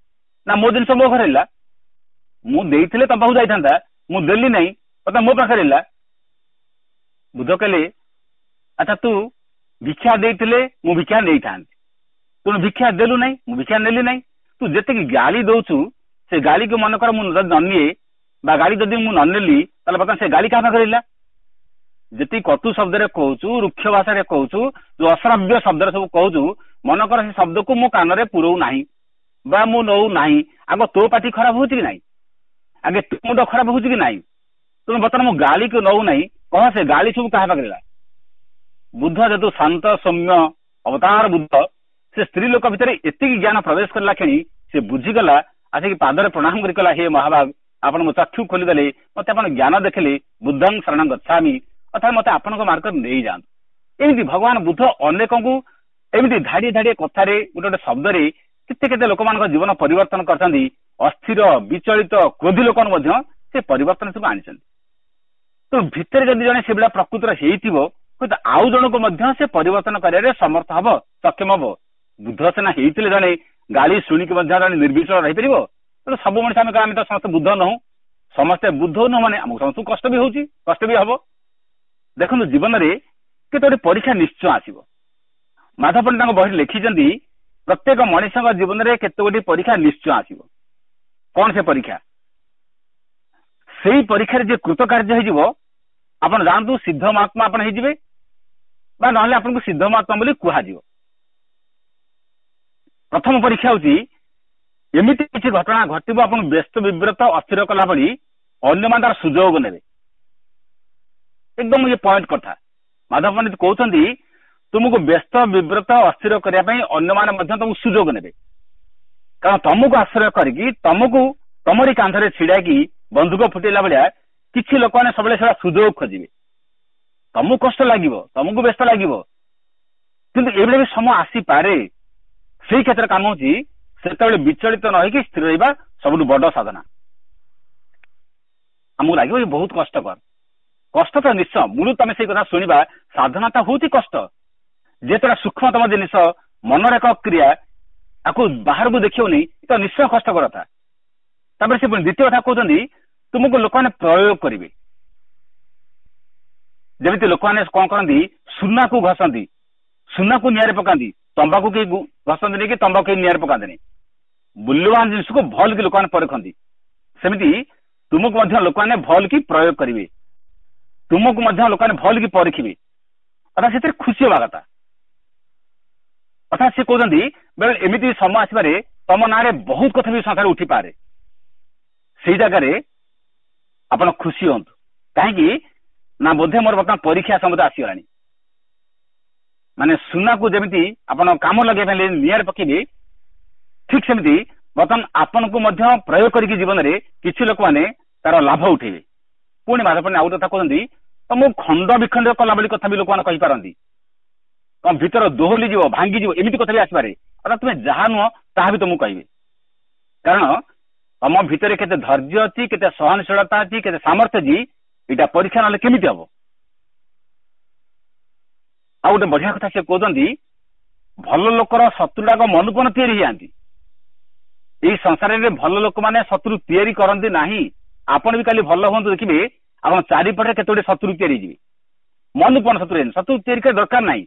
ନା, ମୋ ଜିନିଷ ମୋ ଘରେ ହେଲା, ମୁଁ ଦେଇଥିଲେ ତମ ପାଖକୁ ଯାଇଥାନ୍ତା, ମୁଁ ଦେଲି ନାହିଁ, ବର୍ତ୍ତମାନ ମୋ ପାଖରେ ହେଲା। ବୁଦ୍ଧ କହିଲେ, ଆଚ୍ଛା ତୁ ଭିକ୍ଷା ଦେଇଥିଲେ ମୁଁ ଭିକ୍ଷା ନେଇଥାନ୍ତି, ତେଣୁ ଭିକ୍ଷା ଦେଲୁ ନାହିଁ, ମୁଁ ଭିକ୍ଷା ନେଲି ନାହିଁ। ତୁ ଯେତିକି ଗାଳି ଦଉଛୁ, ସେ ଗାଳିକୁ ମନେକର ମୁଁ ଯଦି ନ ନିଏ ବା ଗାଳି ଯଦି ମୁଁ ନ ନେଲି, ତାହେଲେ ବର୍ତ୍ତମାନ ସେ ଗାଳି କାହା ପାଖରେ ରହିଲା? ଯେତିକି କଟୁ ଶବ୍ଦରେ କହୁଛୁ, ରୁକ୍ଷ ଭାଷାରେ କହୁଛୁ, ଯୋଉ ଅଶ୍ରାବ୍ୟ ଶବ୍ଦରେ ସବୁ କହୁଛୁ, ମନେକର ସେ ଶବ୍ଦକୁ ମୁଁ କାନରେ ପୁରଉ ନାହିଁ ବା ମୁଁ ନଉ ନାହିଁ, ଆଗ ତୋ ପାଟି ଖରାପ ହଉଛି କି ନାହିଁ? ଆଗେ ତୋ ମୁଣ୍ଡ ଖରାପ ହଉଛି କି ନାହିଁ? ତେଣୁ ବର୍ତ୍ତମାନ ମୁଁ ଗାଳିକୁ ନଉ ନାହିଁ, କହ ସେ ଗାଳି ସବୁ କାହା ପାଖରେ ହେଲା? ବୁଦ୍ଧ ଯେହେତୁ ଶାନ୍ତ ସୌମ୍ୟ ଅବତାର ବୁଦ୍ଧ, ସେ ସ୍ତ୍ରୀ ଲୋକ ଭିତରେ ଏତିକି ଜ୍ଞାନ ପ୍ରବେଶ କଲା କ୍ଷଣି ସେ ବୁଝିଗଲା। ଆସିକି ପାଦରେ ପ୍ରଣାମ କରି କହିଲା, ହେ ମହାଭାଗ, ଆପଣ ମୋ ଚକ୍ଷୁ ଖୋଲିଦେଲେ, ମତେ ଆପଣ ଜ୍ଞାନ ଦେଖିଲେ, ବୁଦ୍ଧଂ ଶରଣଂ ଗଚ୍ଛାମି, ଅର୍ଥାତ୍ ମତେ ଆପଣଙ୍କ ମାର୍ଗରେ ନେଇଯାଆନ୍ତୁ। ଏମିତି ଭଗବାନ ବୁଦ୍ଧ ଅନେକଙ୍କୁ ଏମିତି ଧାଡ଼ିଏ ଧାଡ଼ିଏ କଥାରେ, ଗୋଟେ ଗୋଟେ ଶବ୍ଦରେ କେତେ କେତେ ଲୋକମାନଙ୍କ ଜୀବନ ପରିବର୍ତ୍ତନ କରିଛନ୍ତି। ଅସ୍ଥିର, ବିଚଳିତ, କ୍ରୋଧୀ ଲୋକଙ୍କୁ ମଧ୍ୟ ସେ ପରିବର୍ତ୍ତନ ସବୁ ଆଣିଛନ୍ତି। ତ ଭିତରେ ଯଦି ଜଣେ ସେଭଳିଆ ପ୍ରକୃତିର ହେଇଥିବ, ହୁଏତ ଆଉ ଜଣକୁ ମଧ୍ୟ ସେ ପରିବର୍ତ୍ତନ କରିବାରେ ସମର୍ଥ ହବ, ସକ୍ଷମ ହବ। ବୁଦ୍ଧ ସିନା ହେଇଥିଲେ ଜଣେ ଗାଳି ଶୁଣିକି ମଧ୍ୟ ଜଣେ ନିର୍ବିଚଳ ରହିପାରିବ। ତେଣୁ ସବୁ ମଣିଷ ଆମେ ତ ସମସ୍ତେ ବୁଦ୍ଧ ନହୁଁ। ସମସ୍ତେ ବୁଦ୍ଧ ନୁହଁ ମାନେ ଆମକୁ ସମସ୍ତଙ୍କୁ କଷ୍ଟ ବି ହଉଛି, କଷ୍ଟ ବି ହବ। ଦେଖନ୍ତୁ, ଜୀବନରେ କେତେ ଗୋଟେ ପରୀକ୍ଷା ନିଶ୍ଚୟ ଆସିବ। ମାଧବ ପଣ୍ଡିତ ତାଙ୍କ ବହିରେ ଲେଖିଛନ୍ତି, ପ୍ରତ୍ୟେକ ମଣିଷଙ୍କ ଜୀବନରେ କେତେ ଗୋଟି ପରୀକ୍ଷା ନିଶ୍ଚୟ ଆସିବ। କଣ ସେ ପରୀକ୍ଷା? ସେଇ ପରୀକ୍ଷାରେ ଯିଏ କୃତକାର୍ଯ୍ୟ ହେଇଯିବ, ଆପଣ ଯାଆନ୍ତୁ ସିଦ୍ଧ ମହାତ୍ମା ଆପଣ ହେଇଯିବେ, ବା ନହେଲେ ଆପଣଙ୍କୁ ସିଦ୍ଧ ମହାତ୍ମା ବୋଲି କୁହାଯିବ। ପ୍ରଥମ ପରୀକ୍ଷା ହଉଛି, ଏମିତି କିଛି ଘଟଣା ଘଟିବ ଆପଣଙ୍କୁ ବ୍ୟସ୍ତ ବିବ୍ରତ ଅସ୍ଥିର କଲା ଭଳି, ଅନ୍ୟମାନେ ତାର ସୁଯୋଗ ନେବେ। ଏକଦମ ଇଏ ପଏଣ୍ଟ କଥା। ମାଧବ ପଣ୍ଡିତ କହୁଛନ୍ତି, ତୁମକୁ ବ୍ୟସ୍ତ ବିବ୍ରତ ଅସ୍ଥିର କରିବା ପାଇଁ ଅନ୍ୟମାନେ ମଧ୍ୟ ତମକୁ ସୁଯୋଗ ନେବେ। କାରଣ ତମକୁ ଆଶ୍ରୟ କରିକି, ତମକୁ ତମରି କାନ୍ଧରେ ଛିଡାଇକି ବନ୍ଧୁକ ଫୁଟେଇଲା ଭଳିଆ କିଛି ଲୋକମାନେ ସବୁବେଳେ ସେଟା ସୁଯୋଗ ଖୋଜିବେ। ତମକୁ କଷ୍ଟ ଲାଗିବ, ତମକୁ ବ୍ୟସ୍ତ ଲାଗିବ, କିନ୍ତୁ ଏଇଭଳି ବି ସମୟ ଆସିପାରେ। ସେଇ କ୍ଷେତ୍ରରେ କାମ ହଉଛି ସେତେବେଳେ ବିଚଳିତ ନ ହେଇକି ସ୍ଥିର ରହିବା ସବୁଠୁ ବଡ ସାଧନା। ଆମକୁ ଲାଗିବ ଏ ବହୁତ କଷ୍ଟକର। କଷ୍ଟ ତ ନିଶ୍ଚୟ, ମୂଳରୁ ତମେ ସେଇ କଥା ଶୁଣିବା, ସାଧନା ତ ହଉଛି କଷ୍ଟ। ଯେତେବେଳେ ସୂକ୍ଷ୍ମତମ ଜିନିଷ, ମନର ଏକ କ୍ରିୟା, ତାକୁ ବାହାରକୁ ଦେଖିବନି ତ ନିଶ୍ଚୟ କଷ୍ଟକର କଥା। ତାପରେ ସେ ପୁଣି ଦ୍ୱିତୀୟ କଥା କହୁଛନ୍ତି, ତୁମକୁ ଲୋକମାନେ ପ୍ରୟୋଗ କରିବେ। ଯେମିତି ଲୋକମାନେ କଣ କରନ୍ତି, ସୁନାକୁ ଘଷନ୍ତି, ସୁନାକୁ ନିଆଁରେ ପକାନ୍ତି, ତମ୍ବାକୁ କେହି ଘଷନ୍ତିନି କି ତମ୍ବାକୁ କେହି ନିଆଁରେ ପକାନ୍ତିନି। ମୂଲ୍ୟବାନ ଜିନିଷକୁ ଭଲ କି ଲୋକମାନେ ପରଖନ୍ତି, ସେମିତି ତୁମକୁ ମଧ୍ୟ ଲୋକମାନେ ଭଲ କି ପ୍ରୟୋଗ କରିବେ, ତୁମକୁ ମଧ୍ୟ ଲୋକମାନେ ଭଲ କି ପରଖିବେ, ଅର୍ଥାତ୍ ସେଥିରେ ଖୁସି ହେବା କଥା। ଅର୍ଥାତ୍ ସେ କହୁଛନ୍ତି ବେଳେ ଏମିତି ସମୟ ଆସିବାରେ ତମ ନାଁରେ ବହୁତ କଥା ବି ସଂସାରରେ ଉଠିପାରେ, ସେଇ ଜାଗାରେ ଆପଣ ଖୁସି ହୁଅନ୍ତୁ। କାହିଁକି ନା ବୋଧେ ମୋର ବର୍ତ୍ତମାନ ପରୀକ୍ଷା ସମୟ ଆସିଗଲାଣି। ମାନେ ସୁନାକୁ ଯେମିତି ଆପଣ କାମ ଲଗେଇବା ପାଇଁ ନିଆଁରେ ପକେଇବେ, ଠିକ ସେମିତି ବର୍ତ୍ତମାନ ଆପଣଙ୍କୁ ମଧ୍ୟ ପ୍ରୟୋଗ କରିକି ଜୀବନରେ କିଛି ଲୋକମାନେ ତାର ଲାଭ ଉଠେଇବେ। ପୁଣି ମାଧବ ପଣ୍ଡା ଆଉ ଗୋଟେ କଥା କହୁଛନ୍ତି, ତମକୁ ଖଣ୍ଡ ବିଖଣ୍ଡ କଲା ଭଳି କଥା ବି ଲୋକମାନେ କହିପାରନ୍ତି, ତମ ଭିତର ଦୋହଲି ଯିବ, ଭାଙ୍ଗିଯିବ, ଏମିତି କଥା ବି ଆସିପାରେ। ଅର୍ଥାତ୍ ତୁମେ ଯାହା ନୁହଁ ତାହା ବି ତମକୁ କହିବେ। କାରଣ ତମ ଭିତରେ କେତେ ଧୈର୍ଯ୍ୟ ଅଛି, କେତେ ସହନଶୀଳତା ଅଛି, କେତେ ସାମର୍ଥ୍ୟ ଅଛି, ଏଇଟା ପରୀକ୍ଷା ନହେଲେ କେମିତି ହବ। ଆଉ ଗୋଟେ ବଢିଆ କଥା ସେ କହୁଛନ୍ତି, ଭଲ ଲୋକର ଶତ୍ରୁଟାକ ମନକୁ ମନ ତିଆରି ହେଇଯାଆନ୍ତି। ଏଇ ସଂସାରରେ ଭଲ ଲୋକମାନେ ଶତ୍ରୁ ତିଆରି କରନ୍ତି ନାହିଁ। ଆପଣ ବି କାଲି ଭଲ ହୁଅନ୍ତୁ, ଦେଖିବେ ଆପଣ ଚାରିପଟରେ କେତେ ଗୁଡିଏ ଶତ୍ରୁ ତିଆରି ହେଇଯିବେ। ମନକୁ ମନ ଶତ୍ରୁ ହେଇଯାନ୍ତି, ଶତ୍ରୁ ତିଆରି କରିବା ଦରକାର ନାହିଁ।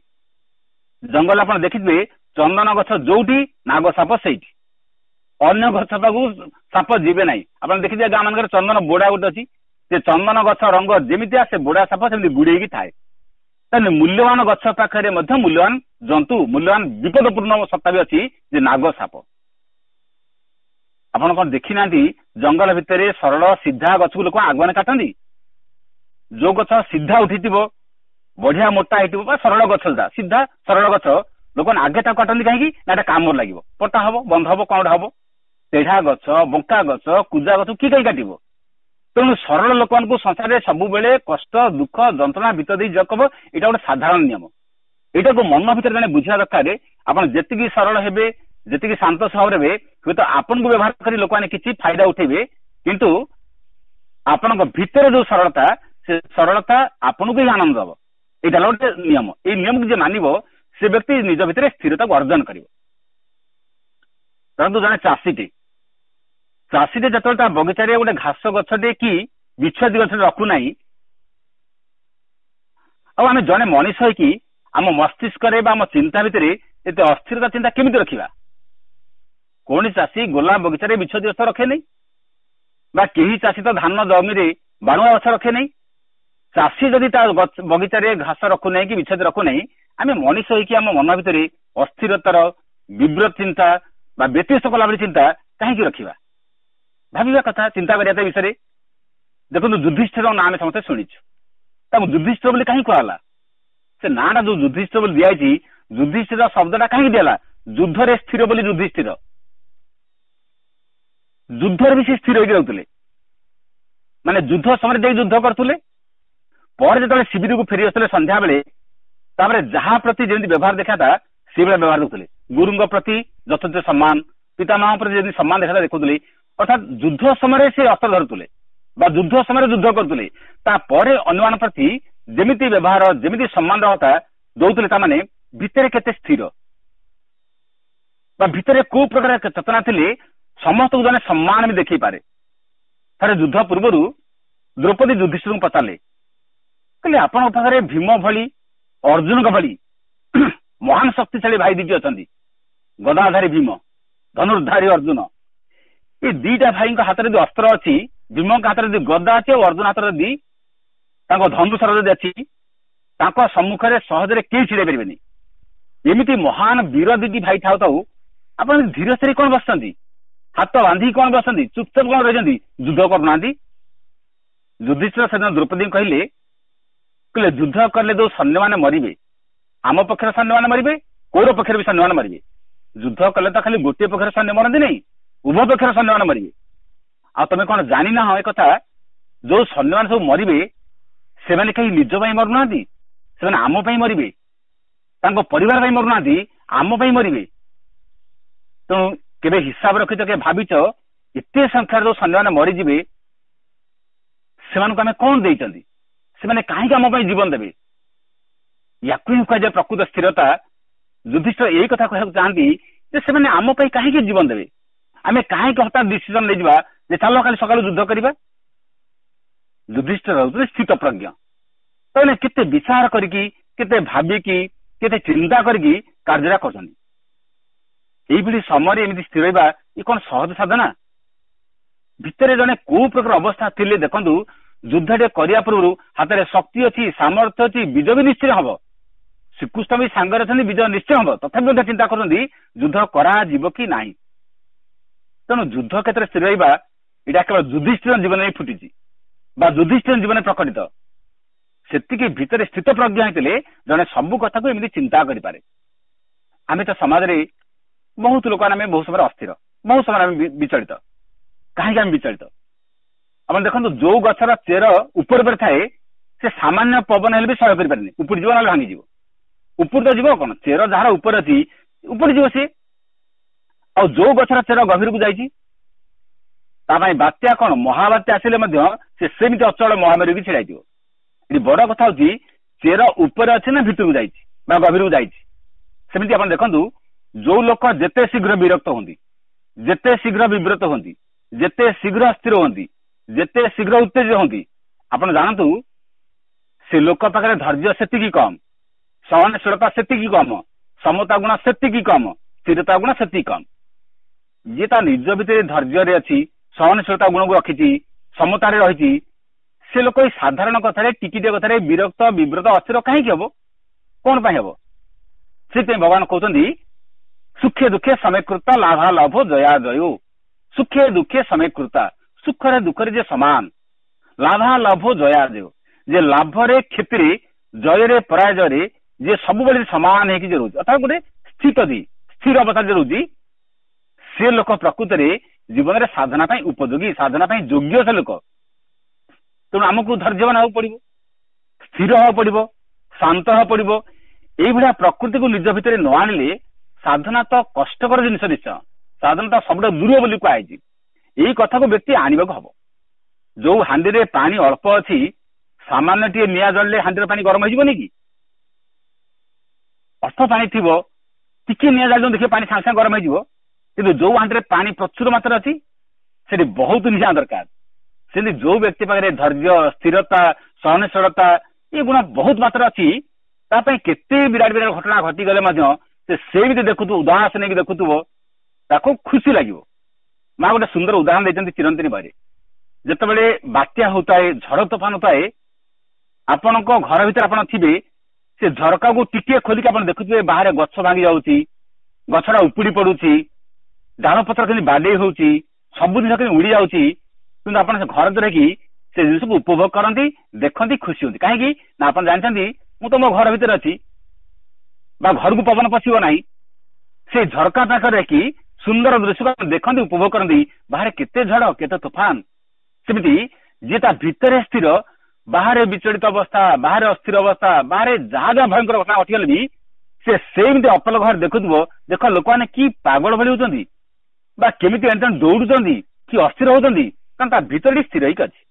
ଜଙ୍ଗଲ ଆପଣ ଦେଖିଥିବେ, ଚନ୍ଦନ ଗଛ ଯୋଉଠି ନାଗ ସାପ ସେଇଠି, ଅନ୍ୟ ଗଛ ପାଖକୁ ସାପ ଯିବେ ନାହିଁ। ଆପଣ ଦେଖିଥିବେ ଗାଁ ମାନଙ୍କରେ ଚନ୍ଦନ ବୋଡା ଗୋଟେ ଅଛି, ସେ ଚନ୍ଦନ ଗଛ ରଙ୍ଗ ଯେମିତିଆ ସେ ବୋଡା ସାପ ସେମିତି ଗୁଡେଇକି ଥାଏ। ତାହେଲେ ମୂଲ୍ୟବାନ ଗଛ ପାଖରେ ମଧ୍ୟ ମୂଲ୍ୟବାନ ଜନ୍ତୁ, ମୂଲ୍ୟବାନ ବିପଦପୂର୍ଣ୍ଣ ସତ୍ତା ବି ଅଛି ଯେ ନାଗ ସାପ। ଆପଣ କଣ ଦେଖିନାହାନ୍ତି ଜଙ୍ଗଲ ଭିତରେ ସରଳ ସିଧା ଗଛକୁ ଲୋକ ଆଗୁଆନେ କାଟନ୍ତି? ଯୋଉ ଗଛ ସିଧା ଉଠିଥିବ, ବଢିଆ ମୋଟା ହେଇଥିବ ବା ସରଳ ଗଛ, ସିଧା ସରଳ ଗଛ ଲୋକମାନେ ଆଗେ ତାକୁ କାଟନ୍ତି। କାହିଁକି ନା ଏଟା କାମରେ ଲାଗିବ, ପଟା ହବ, ବନ୍ଧ ହବ, କଣ ଗୋଟେ ହବ। ତେଢା ଗଛ, ବଙ୍କା ଗଛ, କୁଜା ଗଛ କିଏ କାହିଁ କାଟିବ? ତେଣୁ ସରଳ ଲୋକମାନଙ୍କୁ ସଂସାରରେ ସବୁବେଳେ କଷ୍ଟ, ଦୁଃଖ, ଯନ୍ତ୍ରଣା ଭିତର ଦେଇ ଯିବାକୁ ହବ। ଏଇଟା ଗୋଟେ ସାଧାରଣ ନିୟମ। ଏଇଟାକୁ ମନ ଭିତରେ ଜଣେ ବୁଝିବା ଦରକାର। ଆପଣ ଯେତିକି ସରଳ ହେବେ, ଯେତିକି ଶାନ୍ତ ସ୍ୱଭାବରେ ହେବେ, ହୁଏତ ଆପଣଙ୍କୁ ବ୍ୟବହାର କରି ଲୋକମାନେ କିଛି ଫାଇଦା ଉଠେଇବେ, କିନ୍ତୁ ଆପଣଙ୍କ ଭିତରେ ଯୋଉ ସରଳତା, ସେ ସରଳତା ଆପଣଙ୍କୁ ହିଁ ଆନନ୍ଦ ଦବ। ଏଇଟା ହେଲା ଗୋଟେ ନିୟମ। ଏଇ ନିୟମକୁ ଯିଏ ମାନିବ ସେ ବ୍ୟକ୍ତି ନିଜ ଭିତରେ ସ୍ଥିରତାକୁ ଅର୍ଜନ କରିବ। ଧରନ୍ତୁ ଜଣେ ଚାଷୀଟେ ଯେତେବେଳେ ତା ବଗିଚାରେ ଗୋଟେ ଘାସ ଗଛଟେ କି ବିଛୁଆତି ଗଛଟେ ରଖୁନାହିଁ, ଆଉ ଆମେ ଜଣେ ମଣିଷ ହେଇକି ଆମ ମସ୍ତିଷ୍କରେ ବା ଆମ ଚିନ୍ତା ଭିତରେ ଏତେ ଅସ୍ଥିରତା ଚିନ୍ତା କେମିତି ରଖିବା? କୌଣସି ଚାଷୀ ଗୋଲାପ ବଗିଚାରେ ବିଛୁଆତି ଗଛ ରଖେନି, ବା କେହି ଚାଷୀ ତ ଧାନ ଜମିରେ ବାଣୁଆ ଗଛ ରଖେନି। ଚାଷୀ ଯଦି ତା ବଗିଚାରେ ଘାସ ରଖୁନାହିଁ କି ବିଛୁଆତି ରଖୁନାହିଁ, ଆମେ ମଣିଷ ହେଇକି ଆମ ମନ ଭିତରେ ଅସ୍ଥିରତାର ବିବ୍ରତ ଚିନ୍ତା ବା ବ୍ୟତିବ୍ୟସ୍ତ କଲା ଭଳି ଚିନ୍ତା କାହିଁକି ରଖିବା? ଭାବିବା କଥା, ଚିନ୍ତା କରିବା ତା ବିଷୟରେ। ଦେଖନ୍ତୁ ଯୁଧିଷ୍ଠିର ନାଁ ଆମେ ସମସ୍ତେ ଶୁଣିଛୁ, ତାକୁ ଯୁଧିଷ୍ଠିର ବୋଲି କାହିଁକି କୁହାଗଲା? ସେ ନାଁଟା ଯୋଉ ଯୁଧିଷ୍ଠିର ବୋଲି ଦିଆଯାଇଛି, ଯୁଧିଷ୍ଠିର ଶବ୍ଦଟା କାହିଁକି ଦିଆଲା? ଯୁଦ୍ଧରେ ସ୍ଥିର ବୋଲି ଯୁଧିଷ୍ଠିର। ଯୁଦ୍ଧରେ ବି ସେ ସ୍ଥିର ହେଇକି ରହୁଥିଲେ, ମାନେ ଯୁଦ୍ଧ ସମୟରେ ଯାଇ ଯୁଦ୍ଧ କରୁଥିଲେ, ପରେ ଯେତେବେଳେ ଶିବିରକୁ ଫେରି ଆସୁଥିଲେ ସନ୍ଧ୍ୟାବେଳେ, ତାପରେ ଯାହା ପ୍ରତି ଯେମିତି ବ୍ୟବହାର ଦେଖାତା ସେଇଭଳିଆ ବ୍ୟବହାର ଦେଖୁଥିଲେ। ଗୁରୁଙ୍କ ପ୍ରତି ଯଥେଷ୍ଟ ସମ୍ମାନ, ପିତାମହଙ୍କ ପ୍ରତି ଯେମିତି ସମ୍ମାନ ଦେଖାତା ଦେଖୁଥିଲେ। ଅର୍ଥାତ୍ ଯୁଦ୍ଧ ସମୟରେ ସେ ଅସ୍ତ୍ର ଧରୁଥିଲେ ବା ଯୁଦ୍ଧ ସମୟରେ ଯୁଦ୍ଧ କରୁଥିଲେ, ତାପରେ ଅନ୍ୟମାନଙ୍କ ପ୍ରତି ଯେମିତି ବ୍ୟବହାର, ଯେମିତି ସମ୍ମାନ କଥା ଦଉଥିଲେ, ତାମାନେ ଭିତରେ କେତେ ସ୍ଥିର ବା ଭିତରେ କୋଉ ପ୍ରକାର ଚେତନା ଥିଲେ ସମସ୍ତଙ୍କୁ ଜଣେ ସମ୍ମାନ ବି ଦେଖେଇ ପାରେ। ଥରେ ଯୁଦ୍ଧ ପୂର୍ବରୁ ଦ୍ରୌପଦୀ ଯୁଧିଷ୍ଠିରଙ୍କୁ ପଚାରିଲେ, କହିଲେ ଆପଣଙ୍କ ପାଖରେ ଭୀମ ଭଳି, ଅର୍ଜୁନଙ୍କ ଭଳି ମହାନ ଶକ୍ତିଶାଳୀ ଭାଇ ଦିଟି ଅଛନ୍ତି, ଗଦାଧାରୀ ଭୀମ, ଧନୁର୍ଧାରୀ ଅର୍ଜୁନ। ଏ ଦିଟା ଭାଇଙ୍କ ହାତରେ ଯଦି ଅସ୍ତ୍ର ଅଛି, ଭୀମଙ୍କ ହାତରେ ଯଦି ଗଦା ଅଛି ଆଉ ଅର୍ଜୁନ ହାତରେ ଯଦି ତାଙ୍କ ଧନୁଶର ଯଦି ଅଛି, ତାଙ୍କ ସମ୍ମୁଖରେ ସହଜରେ କେହି ଛିଡେଇ ପାରିବେନି। ଏମିତି ମହାନ ବୀର ଦିଟି ଭାଇ ଥାଉ ଥାଉ ଆପଣ ଧୀର ସ୍ଥିରେ କଣ ବସିଛନ୍ତି? ହାତ ବାନ୍ଧିକି କଣ ବସନ୍ତି? ଚୁପଚାପ କଣ ରହିଛନ୍ତି? ଯୁଦ୍ଧ କରୁନାହାନ୍ତି? ଯୁଧିଷ୍ଠିର ସେଦିନ ଦ୍ରୌପଦୀଙ୍କୁ କହିଲେ, କହିଲେ ଯୁଦ୍ଧ କଲେ ଯୋଉ ସୈନ୍ୟମାନେ ମରିବେ, ଆମ ପକ୍ଷରେ ସୈନ୍ୟମାନେ ମରିବେ, କୌରବ ପକ୍ଷରେ ବି ସୈନ୍ୟମାନେ ମରିବେ। ଯୁଦ୍ଧ କଲେ ତ ଖାଲି ଗୋଟିଏ ପକ୍ଷରେ ସୈନ୍ୟ ମରନ୍ତି ନାହିଁ, ଉଭୟ ପକ୍ଷରେ ସୈନ୍ୟମାନେ ମରିବେ। ଆଉ ତମେ କଣ ଜାଣିନାହ ଏ କଥା, ଯୋଉ ସୈନ୍ୟମାନେ ସବୁ ମରିବେ ସେମାନେ କେହି ନିଜ ପାଇଁ ମରୁନାହାନ୍ତି, ସେମାନେ ଆମ ପାଇଁ ମରିବେ, ତାଙ୍କ ପରିବାର ପାଇଁ ମରୁନାହାନ୍ତି, ଆମ ପାଇଁ ମରିବେ। ତେଣୁ କେବେ ହିସାବ ରଖିଛ, କେବେ ଭାବିଛ ଏତେ ସଂଖ୍ୟାରେ ଯୋଉ ସୈନ୍ୟମାନେ ମରିଯିବେ ସେମାନଙ୍କୁ ଆମେ କଣ ଦେଇଛନ୍ତି? ସେମାନେ କାହିଁକି ଆମ ପାଇଁ ଜୀବନ ଦେବେ? ୟାକୁ ହିଁ କୁହାଯାଏ ପ୍ରକୃତ ସ୍ଥିରତା। ଯୁଧିଷ୍ଠିର ଏଇ କଥା କହିବାକୁ ଚାହାନ୍ତି ଯେ ସେମାନେ ଆମ ପାଇଁ କାହିଁକି ଜୀବନ ଦେବେ? ଆମେ କାହିଁକି ହଠାତ୍ ଡିସିଜନ ନେଇଯିବା ଯେ ଚାଲ କାଲି ସକାଳୁ ଯୁଦ୍ଧ କରିବା? ଯୁଧିଷ୍ଠିର ହେଉଛନ୍ତି ସ୍ଥିତପ୍ରଜ୍ଞ। ତାହେଲେ କେତେ ବିଚାର କରିକି, କେତେ ଭାବିକି, କେତେ ଚିନ୍ତା କରିକି କାର୍ଯ୍ୟଟା କରୁଛନ୍ତି। ଏଇଭଳି ସମୟରେ ଏମିତି ସ୍ଥିର ରହିବା ଏ କଣ ସହଜ ସାଧନା? ଭିତରେ ଜଣେ କୋଉ ପ୍ରକାର ଅବସ୍ଥା ଥିଲେ ଦେଖନ୍ତୁ, ଯୁଦ୍ଧଟେ କରିବା ପୂର୍ବରୁ ହାତରେ ଶକ୍ତି ଅଛି, ସାମର୍ଥ୍ୟ ଅଛି, ବିଜୟ ବି ନିଶ୍ଚୟ ହବ, ଶ୍ରୀକୃଷ୍ଣ ବି ସାଙ୍ଗରେ ଅଛନ୍ତି, ବିଜୟ ନିଶ୍ଚୟ ହବ, ତଥାପି ମଧ୍ୟ ଚିନ୍ତା କରୁଛନ୍ତି ଯୁଦ୍ଧ କରାଯିବ କି ନାହିଁ। ତେଣୁ ଯୁଦ୍ଧ କ୍ଷେତ୍ରରେ ସ୍ଥିର ରହିବା ଏଇଟା କେବଳ ଯୁଧିଷ୍ଠିର ଜୀବନରେ ଫୁଟିଛି ବା ଯୁଧିଷ୍ଠିର ଜୀବନରେ ପ୍ରକଟିତ। ସେତିକି ଭିତରେ ସ୍ଥିତ ପ୍ରଜ୍ଞା ହେଇଥିଲେ ଜଣେ ସବୁ କଥାକୁ ଏମିତି ଚିନ୍ତା କରିପାରେ। ଆମେ ତ ସମାଜରେ ବହୁତ ଲୋକମାନେ ଆମେ ବହୁତ ସମୟରେ ଅସ୍ଥିର, ବହୁତ ସମୟରେ ଆମେ ବିଚଳିତ। କାହିଁକି ଆମେ ବିଚଳିତ? ଆପଣ ଦେଖନ୍ତୁ, ଯୋଉ ଗଛର ଚେର ଉପରେ ଉପରେ ଥାଏ ସେ ସାମାନ୍ୟ ପବନ ହେଲେ ବି ସହ୍ୟ କରିପାରେନି, ଉପୁଡିଯିବ ନହେଲେ ଭାଙ୍ଗିଯିବ। ଉପରୁ ତ ଯିବ କଣ, ଚେର ଯାହାର ଉପରେ ଅଛି ଉପୁଡିଯିବ ସିଏ। ଆଉ ଯୋଉ ଗଛର ଚେର ଗଭୀରକୁ ଯାଇଛି ତା ପାଇଁ ବାତ୍ୟା କଣ ମହାବାତ୍ୟା ଆସିଲେ ମଧ୍ୟ ସେ ସେମିତି ଅଚଳ ମହାମାରୀକି ଛିଡା ହେଇଯିବ। ଏଠି ବଡ କଥା ହଉଛି ଚେର ଉପରେ ଅଛି ନା ଭିତରକୁ ଯାଇଛି ବା ଗଭୀରକୁ ଯାଇଛି। ସେମିତି ଆପଣ ଦେଖନ୍ତୁ, ଯୋଉ ଲୋକ ଯେତେ ଶୀଘ୍ର ବିରକ୍ତ ହୁଅନ୍ତି, ଯେତେ ଶୀଘ୍ର ବିବ୍ରତ ହୁଅନ୍ତି, ଯେତେ ଶୀଘ୍ର ଅସ୍ଥିର ହୁଅନ୍ତି, ଯେତେ ଶୀଘ୍ର ଉତ୍ତେଜିତ ହୁଅନ୍ତି, ଆପଣ ଜାଣନ୍ତୁ ସେ ଲୋକ ପାଖରେ ଧୈର୍ଯ୍ୟ ସେତିକି କମ, ସହନଶୀଳତା ସେତିକି କମ, ସମତା ଗୁଣ ସେତିକି କମ, ସ୍ଥିରତା ଗୁଣ ସେତିକି କମ। ଯିଏ ତା ନିଜ ଭିତରେ ଧୈର୍ଯ୍ୟରେ ଅଛି, ସହନଶୀଳତା ଗୁଣକୁ ରଖିଛି, ସମତାରେ ରହିଛି, ସେ ଲୋକ ଏଇ ସାଧାରଣ କଥାରେ ଟିକିଟିଏ କଥାରେ ବିରକ୍ତ ବିବ୍ରତ ଅସ୍ଥିର କାହିଁକି ହବ? କଣ ପାଇଁ ହବ? ସେଥିପାଇଁ ଭଗବାନ କହୁଛନ୍ତି ସୁଖେ ଦୁଃଖେ ସମୀକୃତା ଲାଭା ଲାଭ ଜୟା ଜୟୁ। ସୁଖେ ଦୁଃଖେ ସମୀକୃତା, ସୁଖରେ ଦୁଃଖରେ ଯେ ସମାନ, ଲାଭା ଲାଭ ଜୟା ଜୟ, ଯେ ଲାଭରେ କ୍ଷତିରେ ଜୟରେ ପରାଜୟରେ ଯେ ସବୁବେଳେ ସମାନ ହେଇକି ଯେ ରହୁଛି, ଅର୍ଥାତ୍ ଗୋଟେ ସ୍ଥିତ ସ୍ଥିର ଅବସ୍ଥା ଯେ ରହୁଛି, ସେ ଲୋକ ପ୍ରକୃତରେ ଜୀବନରେ ସାଧନା ପାଇଁ ଉପଯୋଗୀ, ସାଧନା ପାଇଁ ଯୋଗ୍ୟ ସେ ଲୋକ। ତେଣୁ ଆମକୁ ଧୈର୍ଯ୍ୟବାନ ହେବାକୁ ପଡିବ, ସ୍ଥିର ହେବାକୁ ପଡିବ, ଶାନ୍ତ ହେବାକୁ ପଡିବ। ଏଇଭଳିଆ ପ୍ରକୃତିକୁ ନିଜ ଭିତରେ ନ ଆଣିଲେ ସାଧନା ତ କଷ୍ଟକର ଜିନିଷ ନିଶ୍ଚୟ, ସାଧନା ତ ସବୁଠୁ ଦୂର ବୋଲି କୁହାଯାଇଛି। ଏଇ କଥାକୁ ବ୍ୟକ୍ତି ଆଣିବାକୁ ହବ। ଯୋଉ ହାଣ୍ଡିରେ ପାଣି ଅଳ୍ପ ଅଛି, ସାମାନ୍ୟ ଟିକେ ନିଆଁ ଜଳିଲେ ହାଣ୍ଡିର ପାଣି ଗରମ ହେଇଯିବନି କି? ଅଳ୍ପ ପାଣି ଥିବ, ଟିକେ ନିଆଁ ଜାଳିଲେ ଦେଖିବେ ପାଣି ସାଙ୍ଗେ ସାଙ୍ଗେ ଗରମ ହେଇଯିବ। କିନ୍ତୁ ଯୋଉ ହାଣ୍ଡିରେ ପାଣି ପ୍ରଚୁର ମାତ୍ରାରେ ଅଛି ସେଠି ବହୁତ ନିଆଁ ଦରକାର। ସେମିତି ଯୋଉ ବ୍ୟକ୍ତି ପାଖରେ ଧୈର୍ଯ୍ୟ, ସ୍ଥିରତା, ସହନଶୀଳତା ଏ ଗୁଣ ବହୁତ ମାତ୍ରାରେ ଅଛି, ତା ପାଇଁ କେତେ ବିରାଟ ବିରାଟ ଘଟଣା ଘଟିଗଲେ ମଧ୍ୟ ସେ ସେମିତି ଦେଖୁଥିବ, ଉଦାସ ନେଇକି ଦେଖୁଥିବ, ତାକୁ ଖୁସି ଲାଗିବ। ମା ଗୋଟେ ସୁନ୍ଦର ଉଦାହରଣ ଦେଇଛନ୍ତି ଚିରନ୍ତନୀ ବହିରେ। ଯେତେବେଳେ ବାତ୍ୟା ହଉଥାଏ, ଝଡ଼ ତୋଫାନ ହଉଥାଏ, ଆପଣଙ୍କ ଘର ଭିତରେ ଆପଣ ଥିବେ, ସେ ଝରକାକୁ ଟିକିଏ ଖୋଲିକି ଆପଣ ଦେଖୁଥିବେ ବାହାରେ ଗଛ ଭାଙ୍ଗି ଯାଉଛି, ଗଛଟା ଉପୁଡି ପଡୁଛି, ଡାଳ ପତ୍ର କେମିତି ବାଡେଇ ହଉଛି, ସବୁ ଜିନିଷ କେମିତି ଉଡି ଯାଉଛି। କିନ୍ତୁ ଆପଣ ସେ ଘର ଭିତରେ ରହିକି ସେ ଜିନିଷକୁ ଉପଭୋଗ କରନ୍ତି, ଦେଖନ୍ତି, ଖୁସି ହୁଅନ୍ତି। କାହିଁକି ନା ଆପଣ ଜାଣିଛନ୍ତି ମୁଁ ତ ମୋ ଘର ଭିତରେ ଅଛି ବା ଘରକୁ ପବନ ପଶିବ ନାହିଁ। ସେ ଝରକା ପାଖରେ ରଖି ସୁନ୍ଦର ଦୃଶ୍ୟକୁ ଦେଖନ୍ତି, ଉପଭୋଗ କରନ୍ତି, ବାହାରେ କେତେ ଝଡ କେତେ ତୋଫାନ। ସେମିତି ଯିଏ ତା ଭିତରେ ସ୍ଥିର, ବାହାରେ ବିଚଳିତ ଅବସ୍ଥା, ବାହାରେ ଅସ୍ଥିର ଅବସ୍ଥା, ବାହାରେ ଯାହା ଯାହା ଭୟଙ୍କର ଘଟଣା ଘଟିଗଲେ ବି ସେ ସେମିତି ଅପଲକ ଘରେ ଦେଖୁଥିବ, ଦେଖ ଲୋକମାନେ କି ପାଗଳ ଭଳି ହଉଛନ୍ତି ବା କେମିତି ଏଣେ ତେଣେ ଦୌଡୁଛନ୍ତି, କି ଅସ୍ଥିର ହଉଛନ୍ତି, କାରଣ ତା ଭିତରେ ସ୍ଥିର ହେଇକି ଅଛି।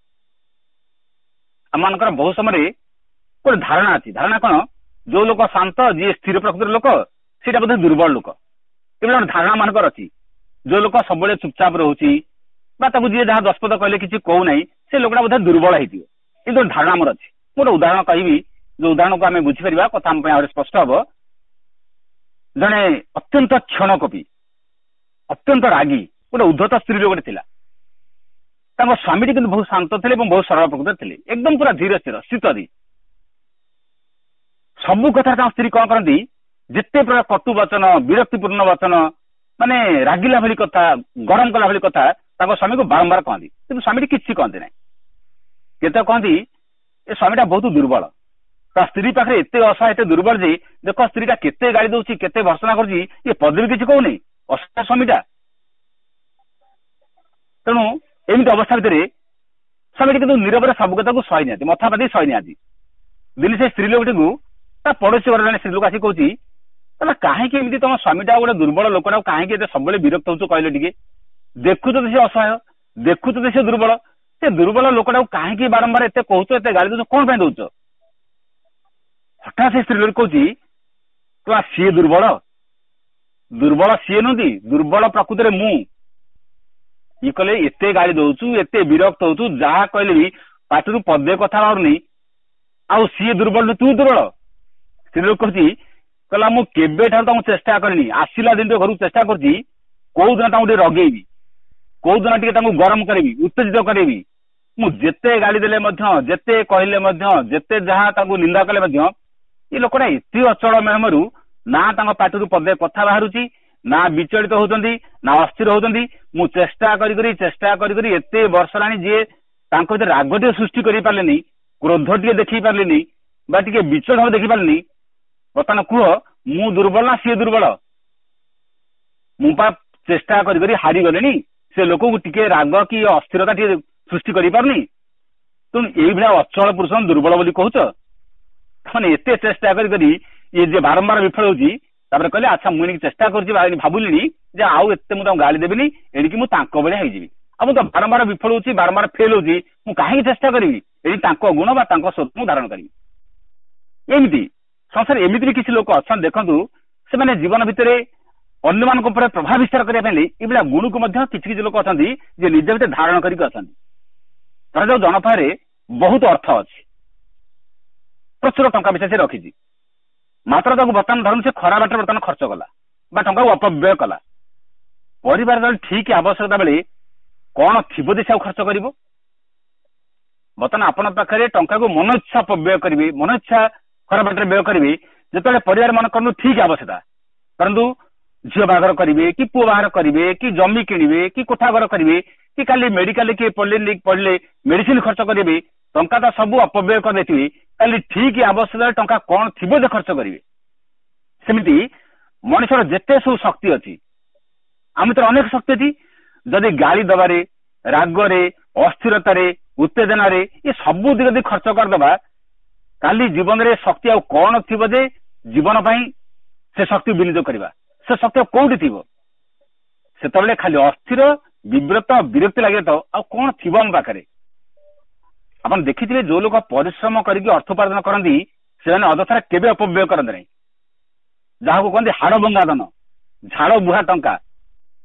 ଆମମାନଙ୍କର ବହୁ ସମୟରେ ଗୋଟେ ଧାରଣା ଅଛି। ଧାରଣା କଣ? ଯୋଉ ଲୋକ ଶାନ୍ତ, ଯିଏ ସ୍ଥିର ପ୍ରକୃତିର ଲୋକ, ସେଇଟା ବୋଧେ ଦୁର୍ବଳ ଲୋକ। ଏଭଳି ଗୋଟେ ଧାରଣା ମାନଙ୍କର ଅଛି। ଯୋଉ ଲୋକ ସବୁବେଳେ ଚୁପଚାପ ରହୁଛି ବା ତାକୁ ଯିଏ ଯାହା ଦଶପଦ କହିଲେ କିଛି କହୁନାହିଁ, ସେ ଲୋକଟା ବୋଧେ ଦୁର୍ବଳ ହେଇଥିବ। କିନ୍ତୁ ଧାରଣା ଆମର ଅଛି। ମୁଁ ଗୋଟେ ଉଦାହରଣ କହିବି, ଯୋଉ ଉଦାହରଣକୁ ଆମେ ବୁଝିପାରିବା, କଥା ଆମ ପାଇଁ ଆହୁରି ସ୍ପଷ୍ଟ ହବ। ଜଣେ ଅତ୍ୟନ୍ତ କ୍ଷଣକୋପୀ, ଅତ୍ୟନ୍ତ ରାଗୀ, ଗୋଟେ ଉଦ୍ଧତ ସ୍ତ୍ରୀ ଲୋକଟେ ଥିଲା। ତାଙ୍କ ସ୍ୱାମୀଟି କିନ୍ତୁ ବହୁତ ଶାନ୍ତ ଥିଲେ ଏବଂ ବହୁତ ସରଳ ପ୍ରକୃତିର ଥିଲେ, ଏକଦମ ପୁରା ଧୀର ସ୍ଥିର ସ୍ଥିତଧୀ। ସବୁ କଥାରେ ତାଙ୍କ ସ୍ତ୍ରୀ କଣ କରନ୍ତି, ଯେତେ ପ୍ରକାର କଟୁ ବଚନ, ବିରକ୍ତିପୂର୍ଣ୍ଣ ବଚନ, ମାନେ ରାଗିଲା ଭଳି କଥା, ଗରମ କଲା ଭଳି କଥା ତାଙ୍କ ସ୍ୱାମୀକୁ ବାରମ୍ବାର କହନ୍ତି। କିନ୍ତୁ ସ୍ୱାମୀଟି କିଛି କହନ୍ତି ନାହିଁ। କେତେ କହନ୍ତି ଏ ସ୍ୱାମୀଟା ବହୁତ ଦୁର୍ବଳ, ତା ସ୍ତ୍ରୀ ପାଖରେ ଏତେ ଅସହାୟ, ଏତେ ଦୁର୍ବଳ ଯେ ଦେଖ ସ୍ତ୍ରୀଟା କେତେ ଗାଳି ଦଉଛି, କେତେ ଭର୍ସନା କରୁଛି, ଇଏ ପଦେ ବି କିଛି କହୁନି, ଅସହାୟ ସ୍ୱାମୀଟା। ତେଣୁ ଏମିତି ଅବସ୍ଥା ଭିତରେ ସ୍ୱାମୀଟି କିନ୍ତୁ ନିରବରେ ସବୁ କଥାକୁ ସହି ନିଅନ୍ତି, ମଥା ପାତି ସହି ନିଅନ୍ତି। ଦିନେ ସେ ସ୍ତ୍ରୀ ଲୋକଟିକୁ ତା ପଡୋଶୀ ଘର ଜଣେ ସ୍ତ୍ରୀ ଲୋକ ଆସି କହୁଛି, ତାହେଲେ କାହିଁକି ଏମିତି ତମ ସ୍ୱାମୀଟା ଗୋଟେ ଦୁର୍ବଳ ଲୋକଟା, କାହିଁକି ଏତେ ସବୁବେଳେ ବିରକ୍ତ ହଉଛୁ କହିଲେ ଟିକେ? ଦେଖୁଛ ତ ସେ ଅସହାୟ, ଦେଖୁଛ ତ ସେ ଦୁର୍ବଳ, ସେ ଦୁର୍ବଳ ଲୋକଟାକୁ କାହିଁକି ବାରମ୍ବାର ଏତେ କହୁଛ, ଏତେ ଗାଳି ଦଉଛ, କଣ ପାଇଁ ଦଉଛ? ହଠାତ୍ ସେ ସ୍ତ୍ରୀ ଲୋକ କହୁଛି, ତ ସିଏ ଦୁର୍ବଳ, ଦୁର୍ବଳ ସିଏ ନୁହନ୍ତି, ଦୁର୍ବଳ ପ୍ରକୃତରେ ମୁଁ। ଇଏ କହିଲେ ଏତେ ଗାଳି ଦଉଛୁ, ଏତେ ବିରକ୍ତ ହଉଛୁ, ଯାହା କହିଲେ ବି ପାଟିରୁ ପଦେ କଥା ବାହାରୁନି, ଆଉ ସିଏ ଦୁର୍ବଳ ତୁ ଦୁର୍ବଳ। ସ୍ତ୍ରୀ ଲୋକ କହୁଛି କହିଲା ମୁଁ କେବେଠାରୁ ତାଙ୍କୁ ଚେଷ୍ଟା କରିନି, ଆସିଲା ଦିନ ଘରକୁ ଚେଷ୍ଟା କରୁଛି କୋଉ ଦିନ ତାଙ୍କୁ ଟିକେ ରଗେଇବି, କୋଉ ଦିନ ଟିକେ ତାଙ୍କୁ ଗରମ କରିବି, ଉତ୍ତେଜିତ କରିବି। ମୁଁ ଯେତେ ଗାଳି ଦେଲେ ମଧ୍ୟ, ଯେତେ କହିଲେ ମଧ୍ୟ, ଯେତେ ଯାହା ତାଙ୍କୁ ନିନ୍ଦା କଲେ ମଧ୍ୟ, ଏ ଲୋକଟା ଏତେ ଅଚଳ ମେହମରୁ ନା ତାଙ୍କ ପାଟିରୁ ପଦେ କଥା ବାହାରୁଛି, ନା ବିଚଳିତ ହଉଛନ୍ତି, ନା ଅସ୍ଥିର ହଉଛନ୍ତି। ମୁଁ ଚେଷ୍ଟା କରି କରି ଚେଷ୍ଟା କରି କରି ଏତେ ବର୍ଷ ହେଲାଣି, ଯିଏ ତାଙ୍କ ଭିତରେ ରାଗ ଟିକେ ସୃଷ୍ଟି କରିପାରିଲେନି, କ୍ରୋଧ ଟିକେ ଦେଖେଇ ପାରିଲେନି, ବା ଟିକେ ବିଚଳିତ ଭାବେ ଦେଖିପାରିଲେନି। ବର୍ତ୍ତମାନ କୁହ, ମୁଁ ଦୁର୍ବଳ ନା ସିଏ ଦୁର୍ବଳ? ମୁଁ ପା ଚେଷ୍ଟା କରି କରି ହାରିଗଲେଣି, ସେ ଲୋକକୁ ଟିକେ ରାଗ କି ଅସ୍ଥିରତା ଟିକେ ସୃଷ୍ଟି କରିପାରୁନି। ତେଣୁ ଏଇଭଳିଆ ଅଚଳ ପୁରୁଷ ଦୁର୍ବଳ ବୋଲି କହୁଛ? ମାନେ ଏତେ ଚେଷ୍ଟା କରି କରି ଇଏ ଯେ ବାରମ୍ବାର ବିଫଳ ହଉଛି। ତାପରେ କହିଲେ, ଆଚ୍ଛା, ମୁଁ ଏଣିକି ଚେଷ୍ଟା କରୁଛି, ଭାବୁଲିଣି ଯେ ଆଉ ଏତେ ମୁଁ ତାଙ୍କୁ ଗାଳି ଦେବିନି, ଏଣିକି ମୁଁ ତାଙ୍କ ଭଳିଆ ହେଇଯିବି। ଆଉ ମୁଁ ତ ବାରମ୍ବାର ବିଫଳ ହଉଛି, ବାରମ୍ବାର ଫେଲ ହଉଛି, ମୁଁ କାହିଁକି ଚେଷ୍ଟା କରିବି? ଏଠି ତାଙ୍କ ଗୁଣ ବା ତାଙ୍କ ସ୍ୱରୂପ ମୁଁ ଧାରଣ କରିବି। ଏମିତି ସଂସାରରେ ଏମିତି ବି କିଛି ଲୋକ ଅଛନ୍ତି, ଦେଖନ୍ତୁ, ସେମାନେ ଜୀବନ ଭିତରେ ଅନ୍ୟମାନଙ୍କ ଉପରେ ପ୍ରଭାବ ବିସ୍ତାର କରିବା ପାଇଁ ଏଇଭଳିଆ ଗୁଣକୁ ମଧ୍ୟ କିଛି କିଛି ଲୋକ ଅଛନ୍ତି ଯେ ନିଜ ଭିତରେ ଧାରଣ କରିକି ଅଛନ୍ତି। ଧରାଯାଉ ଜଣ ପାଖରେ ବହୁତ ଅର୍ଥ ଅଛି, ପ୍ରଚୁର ଟଙ୍କା ପଇସା ସେ ରଖିଛି, ମାତ୍ର ତାକୁ ବର୍ତ୍ତମାନ ଧରନ୍ତୁ ସେ ଖରାପ ବାଟରେ ବର୍ତ୍ତମାନ ଖର୍ଚ୍ଚ କଲା ବା ଟଙ୍କାକୁ ଅପବ୍ୟୟ କଲା। ପରିବାର ଠିକ ଆବଶ୍ୟକତା ବେଳେ କଣ ଥିବ ଯେ ସେ ଆଉ ଖର୍ଚ୍ଚ କରିବ? ବର୍ତ୍ତମାନ ଆପଣଙ୍କ ପାଖରେ ଟଙ୍କାକୁ ମନ ଇଚ୍ଛା ଅପବ୍ୟୟ କରିବେ, ମନ ଇଚ୍ଛା ଖରାପ ବାଟରେ ବ୍ୟୟ କରିବେ, ଯେତେବେଳେ ପରିବାର ମନେ କରନ୍ତୁ ଠିକ ଆବଶ୍ୟକତା, କରନ୍ତୁ ଝିଅ ବାହାଘର କରିବେ କି ପୁଅ ବାହାଘର କରିବେ କି ଜମି କିଣିବେ କି କୋଠା ଘର କରିବେ କି କାଲି ମେଡିକାଲରେ କିଏ ପଡିଲେ ପଡିଲେ ମେଡିସିନ ଖର୍ଚ୍ଚ କରିବେ, ଟଙ୍କା ତ ସବୁ ଅପବ୍ୟୟ କରିଦେଇଥିବେ, କାଲି ଠିକ ଆବଶ୍ୟକତା ଟଙ୍କା କଣ ଥିବ ଯେ ଖର୍ଚ୍ଚ କରିବେ? ସେମିତି ମଣିଷର ଯେତେ ସବୁ ଶକ୍ତି ଅଛି, ଆମ ଭିତରେ ଅନେକ ଶକ୍ତି ଅଛି, ଯଦି ଗାଳି ଦବାରେ, ରାଗରେ, ଅସ୍ଥିରତାରେ, ଉତ୍ତେଜନାରେ ଏ ସବୁ ଦିଗ ଯଦି ଖର୍ଚ୍ଚ କରିଦବା, କାଲି ଜୀବନରେ ଶକ୍ତି ଆଉ କଣ ଥିବ ଯେ ଜୀବନ ପାଇଁ ସେ ଶକ୍ତି ବିନିଯୋଗ କରିବା? ସେ ଶକ୍ତି ଆଉ କୋଉଠି ଥିବ? ସେତେବେଳେ ଖାଲି ଅସ୍ଥିର, ବିବ୍ରତ, ବିରକ୍ତି ଲାଗିବ, ତ ଆଉ କଣ ଥିବ ଆମ ପାଖରେ? ଆପଣ ଦେଖିଥିବେ, ଯୋଉ ଲୋକ ପରିଶ୍ରମ କରିକି ଅର୍ଥ ଉପାର୍ଜନ କରନ୍ତି, ସେମାନେ ଅଯଥାରେ କେବେ ଅପବ୍ୟୟ କରନ୍ତି ନାହିଁ। ଯାହାକୁ କୁହନ୍ତି ହାଡ଼ ଭଙ୍ଗା ଧନ, ଝାଳ ବୁହା ଟଙ୍କା।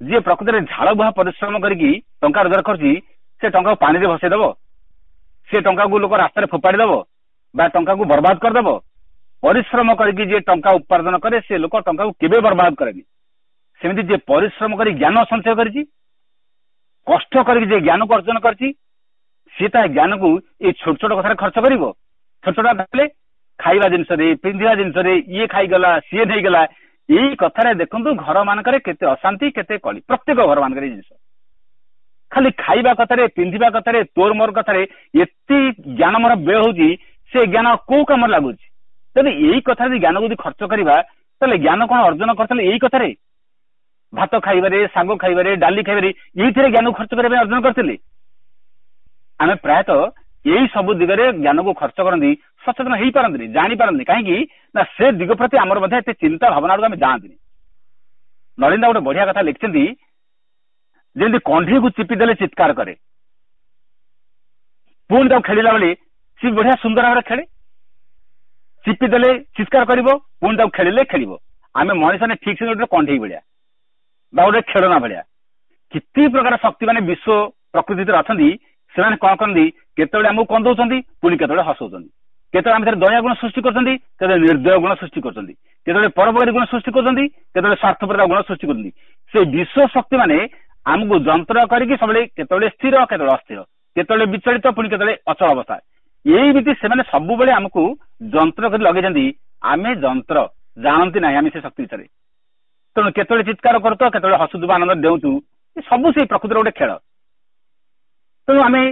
ଯିଏ ପ୍ରକୃତରେ ଝାଳ ବୁହା ପରିଶ୍ରମ କରିକି ଟଙ୍କା ରୋଜଗାର କରୁଛି, ସେ ଟଙ୍କାକୁ ପାଣିରେ ଭସେଇ ଦବ, ସେ ଟଙ୍କାକୁ ଲୋକ ରାସ୍ତାରେ ଫୋପାଡ଼ି ଦବ ବା ଟଙ୍କାକୁ ବର୍ବାଦ କରିଦବ? ପରିଶ୍ରମ କରିକି ଯିଏ ଟଙ୍କା ଉପାର୍ଜନ କରେ, ସେ ଲୋକ ଟଙ୍କାକୁ କେବେ ବର୍ବାଦ କରେନି। ସେମିତି ଯିଏ ପରିଶ୍ରମ କରି ଜ୍ଞାନ ସଞ୍ଚୟ କରିଛି, କଷ୍ଟ କରିକି ଯିଏ ଜ୍ଞାନକୁ ଅର୍ଜନ କରିଛି, ସିଏ ତା ଜ୍ଞାନକୁ ଏଇ ଛୋଟ ଛୋଟ କଥାରେ ଖର୍ଚ୍ଚ କରିବ? ଛୋଟ ଛୋଟ ହେଲେ ଖାଇବା ଜିନିଷରେ, ପିନ୍ଧିବା ଜିନିଷରେ, ଇଏ ଖାଇଗଲା, ସିଏ ନେଇଗଲା, ଏଇ କଥାରେ ଦେଖନ୍ତୁ ଘର ମାନଙ୍କରେ କେତେ ଅଶାନ୍ତି, କେତେ କଳି। ପ୍ରତ୍ୟେକ ଘର ମାନଙ୍କରେ ଜିନିଷ ଖାଲି ଖାଇବା କଥାରେ, ପିନ୍ଧିବା କଥାରେ, ତୋର ମୋର କଥାରେ ଏତେ ଜ୍ଞାନ ମୋର ବ୍ୟୟ ହଉଛି, ସେ ଜ୍ଞାନ କୋଉ କାମରେ ଲାଗୁଛି? ଯଦି ଏଇ କଥା ଯଦି ଜ୍ଞାନକୁ ଯଦି ଖର୍ଚ୍ଚ କରିବା, ତାହେଲେ ଜ୍ଞାନ କଣ ଅର୍ଜନ କରିଥିଲେ ଏଇ କଥାରେ? ଭାତ ଖାଇବାରେ, ଶାଗ ଖାଇବାରେ, ଡାଲି ଖାଇବାରେ, ଏଇଥିରେ ଜ୍ଞାନକୁ ଖର୍ଚ୍ଚ କରିବା ପାଇଁ ଅର୍ଜନ କରିଥିଲେ? ଆମେ ପ୍ରାୟତଃ ଏଇ ସବୁ ଦିଗରେ ଜ୍ଞାନକୁ ଖର୍ଚ୍ଚ କରନ୍ତି, ସଚେତନ ହେଇପାରନ୍ତିନି, ଜାଣିପାରନ୍ତିନି। କାହିଁକି ନା ସେ ଦିଗ ପ୍ରତି ଆମର ମଧ୍ୟ ଏତେ ଚିନ୍ତା ଭାବନା ଆଡକୁ ଆମେ ଯାଆନ୍ତିନି। ନଳିନ୍ଦା ଗୋଟେ ବଢିଆ କଥା ଲେଖିଛନ୍ତି, ଯେମିତି କଣ୍ଢେଇକୁ ଚିପି ଦେଲେ ଚିତ୍କାର କରେ, ପୁଣି ତାକୁ ଖେଳିଲା ବେଳେ ସେ ବଢିଆ ସୁନ୍ଦର ଭାବରେ ଖେଳେ। ଚିପି ଦେଲେ ଚିତ୍କାର କରିବ, ପୁଣି ତାକୁ ଖେଳିଲେ ଖେଳିବ। ଆମେ ମଣିଷ ଠିକ ସେ ଗୋଟେ କଣ୍ଢେଇ ଭଳିଆ ବା ଗୋଟେ ଖେଳନା ଭଳିଆ। କେତେ ପ୍ରକାର ଶକ୍ତି ମାନେ ବିଶ୍ୱ ପ୍ରକୃତି ଭିତରେ ଅଛନ୍ତି, ସେମାନେ କଣ କରନ୍ତି? କେତେବେଳେ ଆମକୁ କନ୍ଦଉଛନ୍ତି, ପୁଣି କେତେବେଳେ ହସଉଛନ୍ତି। କେତେବେଳେ ଆମ ଭିତରେ ଦୟା ଗୁଣ ସୃଷ୍ଟି କରୁଛନ୍ତି, କେତେବେଳେ ନିର୍ଦ୍ଦୟ ଗୁଣ ସୃଷ୍ଟି କରୁଛନ୍ତି, କେତେବେଳେ ପରୋପକାରୀ ଗୁଣ ସୃଷ୍ଟି କରୁଛନ୍ତି, କେତେବେଳେ ସ୍ୱାର୍ଥପରତା ଗୁଣ ସୃଷ୍ଟି କରୁଛନ୍ତି। ସେ ବିଶ୍ୱ ଶକ୍ତି ମାନେ ଆମକୁ ଯନ୍ତ୍ର କରିକି ସବୁବେଳେ କେତେବେଳେ ସ୍ଥିର, କେତେବେଳେ ଅସ୍ଥିର, କେତେବେଳେ ବିଚଳିତ, ପୁଣି କେତେବେଳେ ଅଚଳ ଅବସ୍ଥା, ଏଇମିତି ସେମାନେ ସବୁବେଳେ ଆମକୁ ଯନ୍ତ୍ର କରି ଲଗେଇଛନ୍ତି। ଆମେ ଯନ୍ତ୍ର ଜାଣନ୍ତି ନାହିଁ ଆମେ ସେ ଶକ୍ତି ଭିତରେ। ତେଣୁ କେତେବେଳେ ଚିତ୍କାର କରୁଥିବ, କେତେବେଳେ ହସୁଥିବ, ଆନନ୍ଦ ଦେଉଛୁ, ସବୁ ସେଇ ପ୍ରକୃତିର ଗୋଟେ ଖେଳ। ତେଣୁ ଆମେ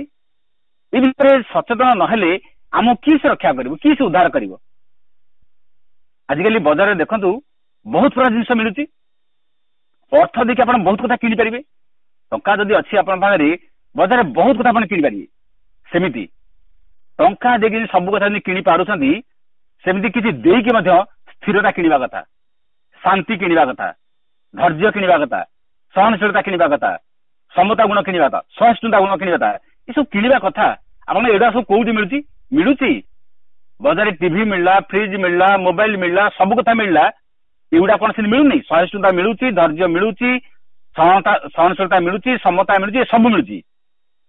ଏ ବିଷୟରେ ସଚେତନ ନହେଲେ ଆମକୁ କିଏ ସେ ରକ୍ଷା କରିବ, କିଏ ସେ ଉଦ୍ଧାର କରିବ? ଆଜିକାଲି ବଜାରରେ ଦେଖନ୍ତୁ ବହୁତ ପ୍ରକାର ଜିନିଷ ମିଳୁଛି। ଅର୍ଥ ଦେଇକି ଆପଣ ବହୁତ କଥା କିଣିପାରିବେ। ଟଙ୍କା ଯଦି ଅଛି ଆପଣଙ୍କ ପାଖରେ, ବଜାରରେ ବହୁତ କଥା ଆପଣ କିଣିପାରିବେ। ସେମିତି ଟଙ୍କା ଦେଇକି ସବୁ କଥା ଯଦି କିଣି ପାରୁଛନ୍ତି, ସେମିତି କିଛି ଦେଇକି ମଧ୍ୟ ସ୍ଥିରତା କିଣିବା କଥା, ଶାନ୍ତି କିଣିବା କଥା, ଧୈର୍ଯ୍ୟ କିଣିବା କଥା, ସହନଶୀଳତା କିଣିବା କଥା, ସମତା ଗୁଣ କିଣିବା କଥା, ସହିଷ୍ଣୁତା ଗୁଣ କିଣିବା କଥା, ଏସବୁ କିଣିବା କଥା। ଆପଣ ଏଗୁଡ଼ା ସବୁ କୋଉଠି ମିଳୁଛି? ମିଳୁଛି ବଜାରରେ। ଟିଭି ମିଳିଲା, ଫ୍ରିଜ ମିଳିଲା, ମୋବାଇଲ ମିଳିଲା, ସବୁ କଥା ମିଳିଲା। ଏଗୁଡ଼ା କଣ ସେମିତି ମିଳୁନି? ସହିଷ୍ଣୁତା ମିଳୁଛି, ଧୈର୍ଯ୍ୟ ମିଳୁଛି, ସହନଶୀଳତା ମିଳୁଛି, ସମତା ମିଳୁଛି, ସବୁ ମିଳୁଛି।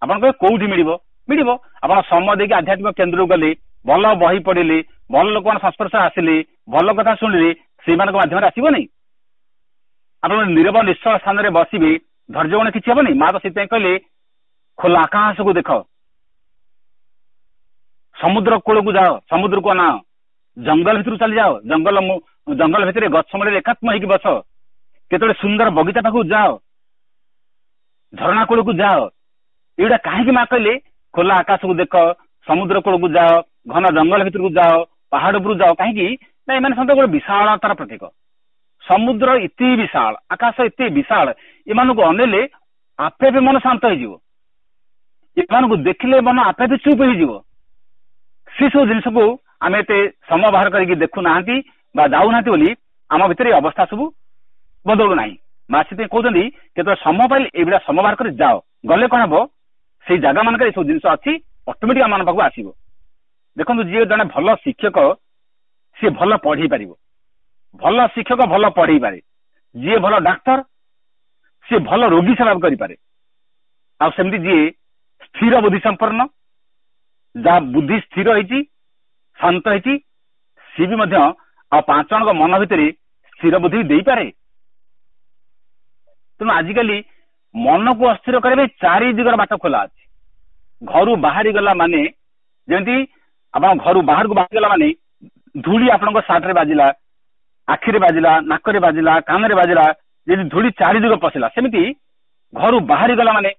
ଆପଣ କହିବେ କୋଉଠି ମିଳିବ? ମିଳିବ ଆପଣ ସମୟ ଦେଇକି ଆଧ୍ୟାତ୍ମିକ କେନ୍ଦ୍ରକୁ ଗଲେ, ଭଲ ବହି ପଢିଲେ, ଭଲ ଲୋକମାନଙ୍କ ସଂସ୍ପର୍ଶ ଆସିଲେ, ଭଲ କଥା ଶୁଣିଲେ, ସେଇମାନଙ୍କ ମାଧ୍ୟମରେ ଆସିବନି? ଆପଣ ନିରବ ନିଶ୍ଚଳ ସ୍ଥାନରେ ବସିବେ, ଧୈର୍ଯ୍ୟ ଗୁଣ କିଛି ହବନି? ମା ତ ସେଥିପାଇଁ କହିଲେ, ଖୋଲା ଆକାଶକୁ ଦେଖ, ସମୁଦ୍ର କୂଳକୁ ଯାଅ, ସମୁଦ୍ରକୁ ଅନାଅ, ଜଙ୍ଗଲ ଭିତରକୁ ଚାଲିଯାଅ, ଜଙ୍ଗଲ ଭିତରେ ଗଛ ମୂଳରେ ଏକାତ୍ମ ହେଇକି ବସ, କେତେବେଳେ ସୁନ୍ଦର ବଗିଚା ପାଖକୁ ଯାଅ, ଝରଣା କୂଳକୁ ଯାଅ। ଏଇଟା କାହିଁକି ମା କହିଲେ ଖୋଲା ଆକାଶକୁ ଦେଖ, ସମୁଦ୍ର କୂଳକୁ ଯାଅ, ଘନ ଜଙ୍ଗଲ ଭିତରକୁ ଯାଅ, ପାହାଡ ଉପରକୁ ଯାଅ? କାହିଁକି ନା ଏମାନେ ସମସ୍ତେ ଗୋଟେ ବିଶାଳତାର ପ୍ରତୀକ। ସମୁଦ୍ର ଏତେ ବିଶାଳ, ଆକାଶ ଏତେ ବିଶାଳ, ଏମାନଙ୍କୁ ଅନେଇଲେ ଆପେ ଆପେ ମନ ଶାନ୍ତ ହେଇଯିବ, ଏମାନଙ୍କୁ ଦେଖିଲେ ମନ ଆପେ ଆପେ ଚୁପ୍ ହେଇଯିବ। ସେ ସବୁ ଜିନିଷକୁ ଆମେ ଏତେ ସମୟ ବାହାର କରିକି ଦେଖୁନାହାନ୍ତି ବା ଯାଉନାହାନ୍ତି ବୋଲି ଆମ ଭିତରେ ଏ ଅବସ୍ଥା ସବୁ ବଦଳୁ ନାହିଁ। ମା ସେଥିପାଇଁ କହୁଛନ୍ତି, କେତେବେଳେ ସମୟ ପାଇଲେ ଏଇଭଳିଆ ସମୟ ବାହାର କରି ଯାଅ। ଗଲେ କଣ ହବ? ସେଇ ଜାଗା ମାନଙ୍କରେ ଏସବୁ ଜିନିଷ ଅଛି, ଅଟୋମେଟିକ ଆମ ପାଖକୁ ଆସିବ। ଦେଖନ୍ତୁ, ଯିଏ ଜଣେ ଭଲ ଶିକ୍ଷକ ସିଏ ଭଲ ପଢେଇ ପାରିବ, ଭଲ ଶିକ୍ଷକ ଭଲ ପଢେଇ ପାରେ। ଯିଏ ଭଲ ଡାକ୍ତର ସିଏ ଭଲ ରୋଗୀ ସେବା କରିପାରେ। ଆଉ ସେମିତି ଯିଏ ସ୍ଥିର ବୁଦ୍ଧି ସମ୍ପନ୍ନ, ଯାହା ବୁଦ୍ଧି ସ୍ଥିର ହେଇଛି, ଶାନ୍ତ ହେଇଛି, ସିଏ ବି ମଧ୍ୟ ଆଉ 5 ଜଣଙ୍କ ମନ ଭିତରେ ସ୍ଥିର ବୁଦ୍ଧି ଦେଇପାରେ। ତେଣୁ ଆଜିକାଲି ମନକୁ ଅସ୍ଥିର କରିବା ପାଇଁ ଚାରି ଦିଗର ବାଟ ଖୋଲା ଅଛି। ଘରୁ ବାହାରି ଗଲା ମାନେ, ଯେମିତି ଆପଣ ଘରୁ ବାହାରକୁ ବାହାରିଗଲା ମାନେ ଧୂଳି ଆପଣଙ୍କ ସାର୍ଟରେ ବାଜିଲା, ଆଖିରେ ବାଜିଲା, ନାକରେ ବାଜିଲା, କାନରେ ବାଜିଲା, ଯଦି ଧୂଳି ଚାରି ଦିଗ ପଶିଲା, ସେମିତି ଘରୁ ବାହାରି ଗଲା ମାନେ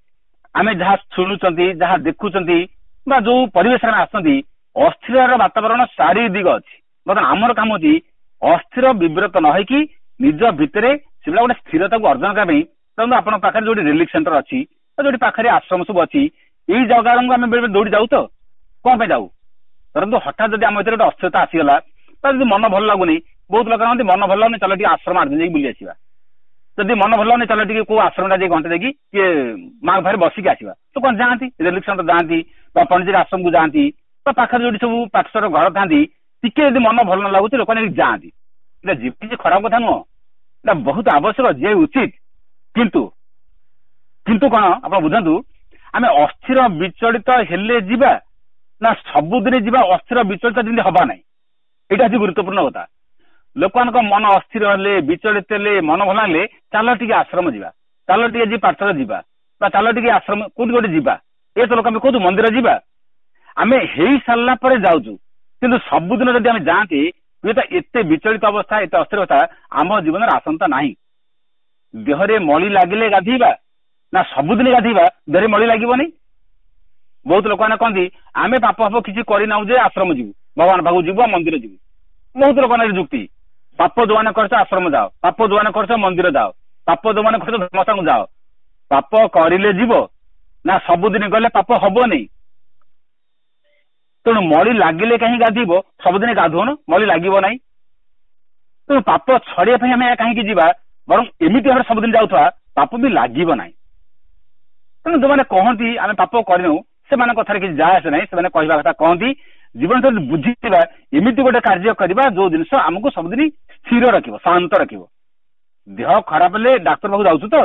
ଆମେ ଯାହା ଶୁଣୁଛନ୍ତି, ଯାହା ଦେଖୁଛନ୍ତି ବା ଯୋଉ ପରିବେଶରେ ଆମେ ଆସନ୍ତି, ଅସ୍ଥିରର ବାତାବରଣ ଚାରି ଦିଗ ଅଛି। ବର୍ତ୍ତମାନ ଆମର କାମ ହଉଛି ଅସ୍ଥିର ବିବ୍ରତ ନ ହେଇକି ନିଜ ଭିତରେ ସେଭଳିଆ ଗୋଟେ ସ୍ଥିରତାକୁ ଅର୍ଜନ କରିବା ପାଇଁ। ଧରନ୍ତୁ ଆପଣଙ୍କ ପାଖରେ ଯୋଉଠି ରିଲିଫ ସେଣ୍ଟର ଅଛି ବା ଯୋଉଠି ପାଖରେ ଆଶ୍ରମ ସବୁ ଅଛି, ଏଇ ଜାଗାକୁ ଆମେ ବେଳେ ବେଳେ ଦୌଡ଼ି ଯାଉ। ତ କଣ ପାଇଁ ଯାଉ? ଧରନ୍ତୁ ହଠାତ୍ ଯଦି ଆମ ଭିତରେ ଗୋଟେ ଅସ୍ଥିରତା ଆସିଗଲା ବା ଯଦି ମନ ଭଲ ଲାଗୁନି, ବହୁତ ଲୋକ କହନ୍ତି ମନ ଭଲ ଲାଗୁନି, ଚାଲ ଟିକେ ଆଶ୍ରମ 8 ଦିନ ଯାଇକି ବୁଲି ଆସିବା। ଯଦି ମନ ଭଲ ଲାଗୁନି, ଚାଲ ଟିକେ କୋଉ ଆଶ୍ରମଟା ଯାଇ ଘଣ୍ଟେ ଯାଇକି ଟିକେ ମାଙ୍କ ପାଖରେ ବସିକି ଆସିବା। ତ କଣ ଯାଆନ୍ତି, ରିଲିଫ ସେଣ୍ଟର ଯାଆନ୍ତି ବା ପଣ୍ଡିଚେରୀ ଆଶ୍ରମକୁ ଯାଆନ୍ତି ବା ପାଖରେ ଯୋଉଠି ସବୁ ପାଠଶାର ଘର ଥାନ୍ତି, ଟିକେ ଯଦି ମନ ଭଲ ନ ଲାଗୁଛି ଲୋକମାନେ ଯାଆନ୍ତି। ଏଇଟା କିଛି ଖରାପ କଥା ନୁହଁ, ଏଇଟା ବହୁତ ଆବଶ୍ୟକ, ଯିଏ ଉଚିତ। କିନ୍ତୁ କଣ ଆପଣ ବୁଝନ୍ତୁ, ଆମେ ଅସ୍ଥିର ବିଚଳିତ ହେଲେ ଯିବା ନା ସବୁଦିନ ଯିବା ଅସ୍ଥିର ବିଚଳିତ ଯେମିତି ହବା ନାହିଁ, ଏଇଟା ହଉଛି ଗୁରୁତ୍ୱପୂର୍ଣ୍ଣ କଥା। ଲୋକମାନଙ୍କ ମନ ଅସ୍ଥିର ହେଲେ, ବିଚଳିତ ହେଲେ, ମନ ଭଲ ହେଲେ ଚାଲ ଟିକେ ଆଶ୍ରମ ଯିବା, ଚାଲ ଟିକେ ଯିଏ ପାଠଶାଳ ଯିବା ବା ଚାଲ ଟିକେ ଆଶ୍ରମ କୋଉଠି ଗୋଟେ ଯିବା। ଏ ତ ଲୋକ ଆମେ କହୁଛୁ ମନ୍ଦିର ଯିବା, ଆମେ ହେଇ ସାରିଲା ପରେ ଯାଉଛୁ। କିନ୍ତୁ ସବୁଦିନ ଯଦି ଆମେ ଯାଆନ୍ତି, ହୁଏତ ଏତେ ବିଚଳିତ ଅବସ୍ଥା, ଏତେ ଅସ୍ଥିର ଅବସ୍ଥା ଆମ ଜୀବନରେ ଆସନ୍ତା ନାହିଁ। ଦେହରେ ମଳି ଲାଗିଲେ ଗାଧେଇବା ନା ସବୁଦିନ ଗାଧେଇବା ଦେହରେ ମଳି ଲାଗିବନି? ବହୁତ ଲୋକମାନେ କହନ୍ତି ଆମେ ପାପ ଫାପ କିଛି କରିନାହୁଁ ଯେ ଆଶ୍ରମ ଯିବୁ, ଭଗବାନ ପାଖକୁ ଯିବୁ, ମନ୍ଦିର ଯିବୁ। ବହୁତ ଲୋକମାନଙ୍କ ଯୁକ୍ତି, ପାପ ଯୋଉମାନେ କରିଛ ଆଶ୍ରମ ଯାଅ, ପାପ ଯୋଉମାନେ କରିଛ ମନ୍ଦିର ଯାଅ, ପାପ ଯୋଉମାନେ କରିଛ ଧର୍ମସ୍ଥାନକୁ ଯାଅ। ପାପ କରିଲେ ଯିବ ନା ସବୁଦିନ ଗଲେ ପାପ ହବନି? ତେଣୁ ମଳି ଲାଗିଲେ କାହିଁ ଗାଧୋଇବ? ସବୁଦିନ ଗାଧୋଉନ, ମଳି ଲାଗିବ ନାହିଁ। ତେଣୁ ପାପ ଛଡେଇବା ପାଇଁ ଆମେ କାହିଁକି ଯିବା? ବରଂ ଏମିତି ଭାବରେ ସବୁଦିନ ଯାଉଥିବା, ପାପ ବି ଲାଗିବ ନାହିଁ। ତେଣୁ ଯୋଉମାନେ କହନ୍ତି ଆମେ ପାପ କରିନୁ, ସେମାନଙ୍କ କଥାରେ କିଛି ଯାଏ ଆସେ ନାହିଁ। ସେମାନେ କହିବା କଥା କହନ୍ତି। ଜୀବନ ଯଦି ବୁଝିଥିବା, ଏମିତି ଗୋଟେ କାର୍ଯ୍ୟ କରିବା ଯୋଉ ଜିନିଷ ଆମକୁ ସବୁଦିନ ସ୍ଥିର ରଖିବ, ଶାନ୍ତ ରଖିବ। ଦେହ ଖରାପ ହେଲେ ଡାକ୍ତର ପାଖକୁ ଯାଉଛୁ ତ,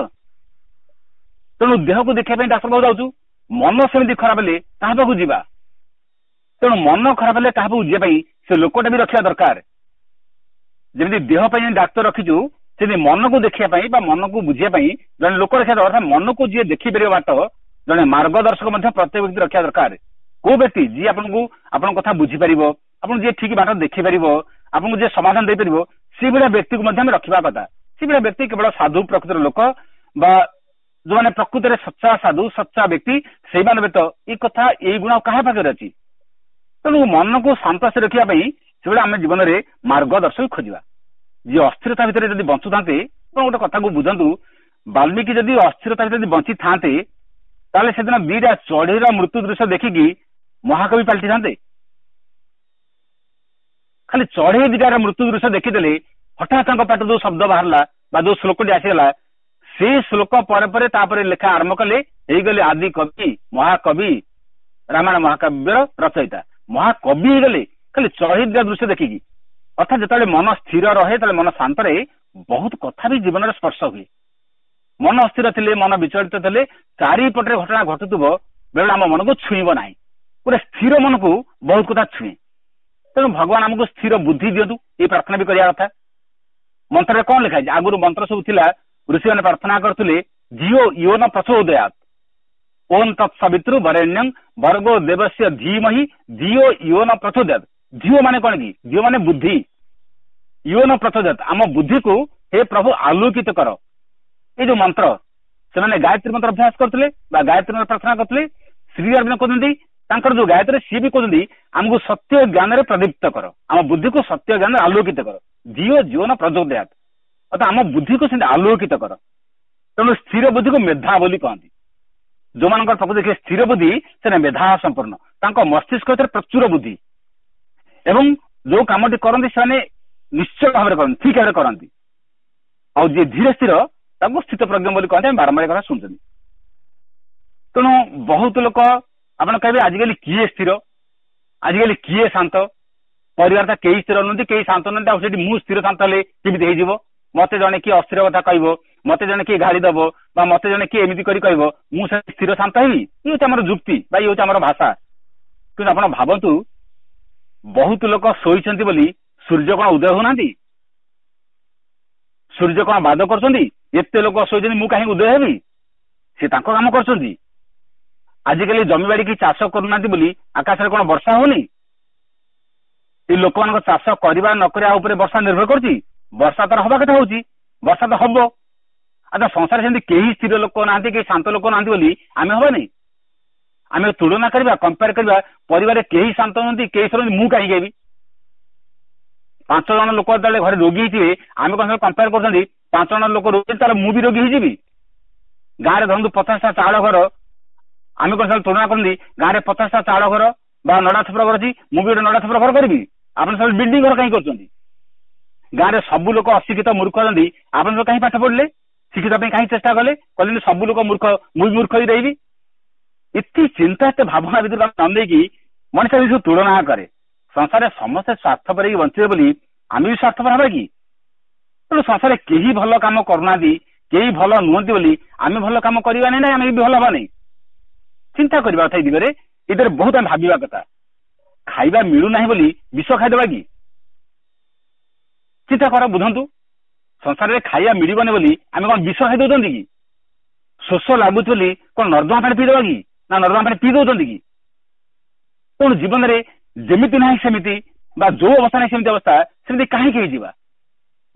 ତେଣୁ ଦେହକୁ ଦେଖିବା ପାଇଁ ଡାକ୍ତର ପାଖକୁ ଯାଉଛୁ। ମନ ସେମିତି ଖରାପ ହେଲେ କାହା ପାଖକୁ ଯିବା? ତେଣୁ ମନ ଖରାପ ହେଲେ କାହା ପାଖକୁ ଯିବା ପାଇଁ ସେ ଲୋକଟା ବି ରଖିବା ଦରକାର। ଯେମିତି ଦେହ ପାଇଁ ଡାକ୍ତର ରଖିଛୁ, ସେମିତି ମନକୁ ଦେଖିବା ପାଇଁ ବା ମନକୁ ବୁଝିବା ପାଇଁ ଜଣେ ଲୋକ ରଖିବା ଦରକାର। ମନକୁ ଯିଏ ଦେଖିପାରିବ ବାଟ, ଜଣେ ମାର୍ଗଦର୍ଶକ ମଧ୍ୟ ପ୍ରତ୍ୟେକ ବ୍ୟକ୍ତି ରଖିବା ଦରକାର। କୋଉ ବ୍ୟକ୍ତି? ଯିଏ ଆପଣଙ୍କୁ ଆପଣଙ୍କ କଥା ବୁଝିପାରିବ, ଆପଣଙ୍କୁ ଯିଏ ଠିକ ବାଟ ଦେଖିପାରିବ, ଆପଣଙ୍କୁ ଯିଏ ସମାଧାନ ଦେଇପାରିବ, ସେଇଭଳିଆ ବ୍ୟକ୍ତିକୁ ମଧ୍ୟ ଆମେ ରଖିବା କଥା। ସେଇଭଳିଆ ବ୍ୟକ୍ତି କେବଳ ସାଧୁ ପ୍ରକୃତିର ଲୋକ ବା ଯୋଉମାନେ ପ୍ରକୃତରେ ସଚ୍ଚା ସାଧୁ, ସଚ୍ଚା ବ୍ୟକ୍ତି, ସେଇମାନେ ବ୍ୟତୀତ ଏଇ କଥା, ଏଇ ଗୁଣ କାହା ପାଖରେ ଅଛି? ତେଣୁ ମନକୁ ଶାନ୍ତ ରଖିବା ପାଇଁ ସେଭଳି ଆମେ ଜୀବନରେ ମାର୍ଗଦର୍ଶକ ଖୋଜିବା। ଯିଏ ଅସ୍ଥିରତା ଭିତରେ ଯଦି ବଞ୍ଚୁଥାନ୍ତେ, ଆପଣ ଗୋଟେ କଥାକୁ ବୁଝନ୍ତୁ, ବାଲ୍ମୀକି ଯଦି ଅସ୍ଥିରତା ଭିତରେ ଯଦି ବଞ୍ଚିଥାନ୍ତେ, ତାହେଲେ ସେଦିନ 2ଟା ଚଢେଇର ମୃତ୍ୟୁ ଦୃଶ୍ୟ ଦେଖିକି ମହାକବି ପାଲଟିଥାନ୍ତେ? ଖାଲି ଚଢେଇ 2ଟାର ମୃତ୍ୟୁ ଦୃଶ୍ୟ ଦେଖିଦେଲେ, ହଠାତ୍ ତାଙ୍କ ପାଟିରୁ ଯୋଉ ଶବ୍ଦ ବାହାରିଲା ବା ଯୋଉ ଶ୍ଲୋକଟି ଆସିଗଲା, ସେଇ ଶ୍ଲୋକ ପରେ ପରେ ତାପରେ ଲେଖା ଆରମ୍ଭ କଲେ, ହେଇଗଲେ ଆଦି କବି, ମହାକବି, ରାମାୟଣ ମହାକାବ୍ୟର ରଚୟିତା, ମହାକବି ହେଇଗଲେ ଖାଲି ଚଢେଇ 2ଟା ଦୃଶ୍ୟ ଦେଖିକି। ଅର୍ଥାତ୍ ଯେତେବେଳେ ମନ ସ୍ଥିର ରହେ, ଯେତେବେଳେ ମନ ଶାନ୍ତ ରହେ, ବହୁତ କଥା ବି ଜୀବନରେ ସ୍ପର୍ଶ ହୁଏ। ମନ ଅସ୍ଥିର ଥିଲେ, ମନ ବିଚଳିତ ଥିଲେ, ଚାରିପଟରେ ଘଟଣା ଘଟୁଥିବ, ବେଳେବେଳେ ଆମ ମନକୁ ଛୁଇଁବ ନାହିଁ। ଗୋଟେ ସ୍ଥିର ମନକୁ ବହୁତ କଥା ଛୁଏଁ। ତେଣୁ ଭଗବାନ ଆମକୁ ସ୍ଥିର ବୁଦ୍ଧି ଦିଅନ୍ତୁ, ଏଇ ପ୍ରାର୍ଥନା ବି କରିବା କଥା। ମନ୍ତ୍ରରେ କଣ ଲେଖା ହେଇଛି? ଆଗରୁ ମନ୍ତ୍ର ସବୁ ଥିଲା, ଋଷିମାନେ ପ୍ରାର୍ଥନା କରୁଥିଲେ, ଧିଓ ୟୋ ନ ପ୍ରଚୋଦୟାତ୍, ଓମ୍ ତତ୍ ସବିତୃ ବରେଣ୍ୟଂ ଭର୍ଗୋ ଦେବସ୍ୟ ଧୀମହି ଧିଓ ୟୋ ନ ପ୍ରଚୋଦୟାତ୍। ଧିଓ ମାନେ କଣ କି? ଧିଓ ମାନେ ବୁଦ୍ଧି। ୟୋ ନ ପ୍ରଚୋଦୟାତ୍, ଆମ ବୁଦ୍ଧିକୁ ହେ ପ୍ରଭୁ ଆଲୋକିତ କର। ଏଇ ଯୋଉ ମନ୍ତ୍ର, ସେମାନେ ଗାୟତ୍ରୀ ମନ୍ତ୍ର ଅଭ୍ୟାସ କରୁଥିଲେ ବା ଗାୟତ୍ରୀ ମନ୍ତ୍ର ପ୍ରାର୍ଥନା କରୁଥିଲେ। ଶ୍ରୀ ଅରବିନ୍ଦ କହୁଛନ୍ତି ତାଙ୍କର ଯୋଉ ଗାୟତ୍ରୀ, ସିଏ ବି କହୁଛନ୍ତି ଆମକୁ ସତ୍ୟ ଜ୍ଞାନରେ ପ୍ରଦୀପ୍ତ କର, ଆମ ବୁଦ୍ଧିକୁ ସତ୍ୟ ଜ୍ଞାନରେ ଆଲୋକିତ କର। ଧିଓ ୟୋ ନ ପ୍ରଚୋଦୟାତ୍, ଅର୍ଥାତ୍ ଆମ ବୁଦ୍ଧିକୁ ସେମିତି ଆଲୋକିତ କର। ତେଣୁ ସ୍ଥିର ବୁଦ୍ଧିକୁ ମେଧା ବୋଲି କହନ୍ତି। ଯୋଉମାନଙ୍କର ପ୍ରକୃତି ଦେଖିବେ ସ୍ଥିର ବୁଦ୍ଧି, ସେମାନେ ମେଧା ସମ୍ପନ୍ନ, ତାଙ୍କ ମସ୍ତିଷ୍କ ଭିତରେ ପ୍ରଚୁର ବୁଦ୍ଧି, ଏବଂ ଯୋଉ କାମଟି କରନ୍ତି ସେମାନେ ନିଶ୍ଚୟ ଭାବରେ କରନ୍ତି, ଠିକ ଭାବରେ କରନ୍ତି। ଆଉ ଯିଏ ଧୀରେ ସ୍ଥିର ତାକୁ ସ୍ଥିତ ପ୍ରଜ୍ଞ ବୋଲି କହନ୍ତି। ଆମେ ବାରମ୍ବାର କଥା ଶୁଣୁଛନ୍ତି। ତେଣୁ ବହୁତ ଲୋକ ଆପଣ କହିବେ ଆଜିକାଲି କିଏ ସ୍ଥିର, ଆଜିକାଲି କିଏ ଶାନ୍ତ? ପରିବାର ତ କେହି ସ୍ଥିର ନୁହନ୍ତି, କେହି ଶାନ୍ତ ନୁହନ୍ତି, ଆଉ ସେଠି ମୁଁ ସ୍ଥିର ଶାନ୍ତ ହେଲେ କେମିତି ହେଇଯିବ? ମତେ ଜଣେ କିଏ ଅସ୍ଥିର କଥା କହିବ, ମତେ ଜଣେ କିଏ ଗାଳି ଦବ, ବା ମତେ ଜଣେ କିଏ ଏମିତି କରି କହିବ, ମୁଁ ସେ ସ୍ଥିର ଶାନ୍ତ ହେବି? ଇଏ ହଉଛି ଆମର ଯୁକ୍ତି ବା ଇଏ ହଉଛି ଆମର ଭାଷା। କିନ୍ତୁ ଆପଣ ଭାବନ୍ତୁ, ବହୁତ ଲୋକ ଶୋଇଛନ୍ତି ବୋଲି ସୂର୍ଯ୍ୟ କଣ ଉଦୟ ହଉନାହାନ୍ତି? ସୂର୍ଯ୍ୟ କଣ ବାଦ କରୁଛନ୍ତି? ଏତେ ଲୋକ ଶୋଇଛନ୍ତି, ମୁଁ କାହିଁକି ଉଦୟ ହେବି? ସେ ତାଙ୍କ କାମ କରୁଛନ୍ତି। ଆଜିକାଲି ଜମିବାଡି କି ଚାଷ କରୁନାହାନ୍ତି ବୋଲି ଆକାଶରେ କଣ ବର୍ଷା ହଉନି? ଏ ଲୋକମାନଙ୍କ ଚାଷ କରିବା ନ କରିବା ଉପରେ ବର୍ଷା ନିର୍ଭର କରୁଛି? ବର୍ଷା ତାର ହବା କଥା ହଉଛି, ବର୍ଷା ତ ହବ। ଆଚ୍ଛା, ସଂସାରରେ ସେମିତି କେହି ସ୍ଥିର ଲୋକ ନାହାନ୍ତି, କେହି ଶାନ୍ତ ଲୋକ ନାହାନ୍ତି ବୋଲି ଆମେ ହବାନି? ଆମେ ତୁଳନା କରିବା, କମ୍ପେୟାର କରିବା, ପରିବାରରେ କେହି ଶାନ୍ତ ନୁହନ୍ତି, କେହି ସ୍ଥିର, ମୁଁ କାହିଁକି ହେବି? 5 ଜଣ ଲୋକ ଯେତେବେଳେ ଘରେ ରୋଗୀ ହେଇଥିବେ, ଆମେ କଣ କମ୍ପେୟାର କରୁଛନ୍ତି? 5 ଜଣ ଲୋକ ରୋଗୀ, ତାହେଲେ ମୁଁ ବି ରୋଗୀ ହେଇଯିବି? ଗାଁରେ ଧରନ୍ତୁ 50ଟା ଚାଳ ଘର, ଆମେ କଣ ତୁଳନା କରନ୍ତି? ଗାଁରେ 50ଟା ଚାଳ ଘର ବା ନଡା ଛପର ଘର ଅଛି, ମୁଁ ବି ଗୋଟେ ନଡା ଛପର ଘର କରିବି? ଆପଣ ସବୁ ବିଲ୍ଡିଂ ଘର କାହିଁ କରୁଛନ୍ତି? ଗାଁରେ ସବୁ ଲୋକ ଅଶିକ୍ଷିତ ମୂର୍ଖ ଅଛନ୍ତି, ଆପଣ ସବୁ କାହିଁ ପାଠ ପଢିଲେ? ଶିକ୍ଷିତ ପାଇଁ କାହିଁ ଚେଷ୍ଟା କଲେ? କହିଲେ ସବୁ ଲୋକ ମୂର୍ଖ, ମୁଁ ବି ମୂର୍ଖ ହେଇ ରହିବି। ଏତେ ଚିନ୍ତା, ଏତେ ଭାବନା ଭିତରକୁ ନ ନେଇକି ମଣିଷ ସବୁ ତୁଳନା କରେ। ସଂସାରରେ ସମସ୍ତେ ସ୍ୱାର୍ଥପର ହେଇକି ବଞ୍ଚିବେ ବୋଲି ଆମେ ବି ସ୍ୱାର୍ଥପର ହବା କି? ତେଣୁ ସଂସାରରେ କେହି ଭଲ କାମ କରୁନାହାନ୍ତି, କେହି ଭଲ ନୁହନ୍ତି ବୋଲି ଆମେ ଭଲ କାମ କରିବା ନାଇଁ, ଆମେ ବି ଭଲ ହବା ନାଇଁ। ଚିନ୍ତା କରିବା କଥା ଏ ଦିଗରେ, ଏଥିରେ ବହୁତ ଆମେ ଭାବିବା କଥା। ଖାଇବା ମିଳୁନାହିଁ ବୋଲି ବିଷ ଖାଇଦେବା କି? ଚିନ୍ତା କର, ବୁଝନ୍ତୁ। ସଂସାରରେ ଖାଇବା ମିଳିବନି ବୋଲି ଆମେ କଣ ବିଷ ଖାଇ ଦଉଛନ୍ତି କି? ଶୋଷ ଲାଗୁଛି ବୋଲି କଣ ନର୍ଦ୍ଦମା ପାଣି ପିଇଦେବା କି? ନା ନର୍ଦ୍ଦମା ପାଣି ପିଇ ଦଉଛନ୍ତି କି? ତେଣୁ ଜୀବନରେ ଯେମିତି ନାହିଁ ସେମିତି, ବା ଯୋଉ ଅବସ୍ଥା ନାହିଁ ସେମିତି ଅବସ୍ଥା, ସେମିତି କାହିଁକି ହେଇଯିବା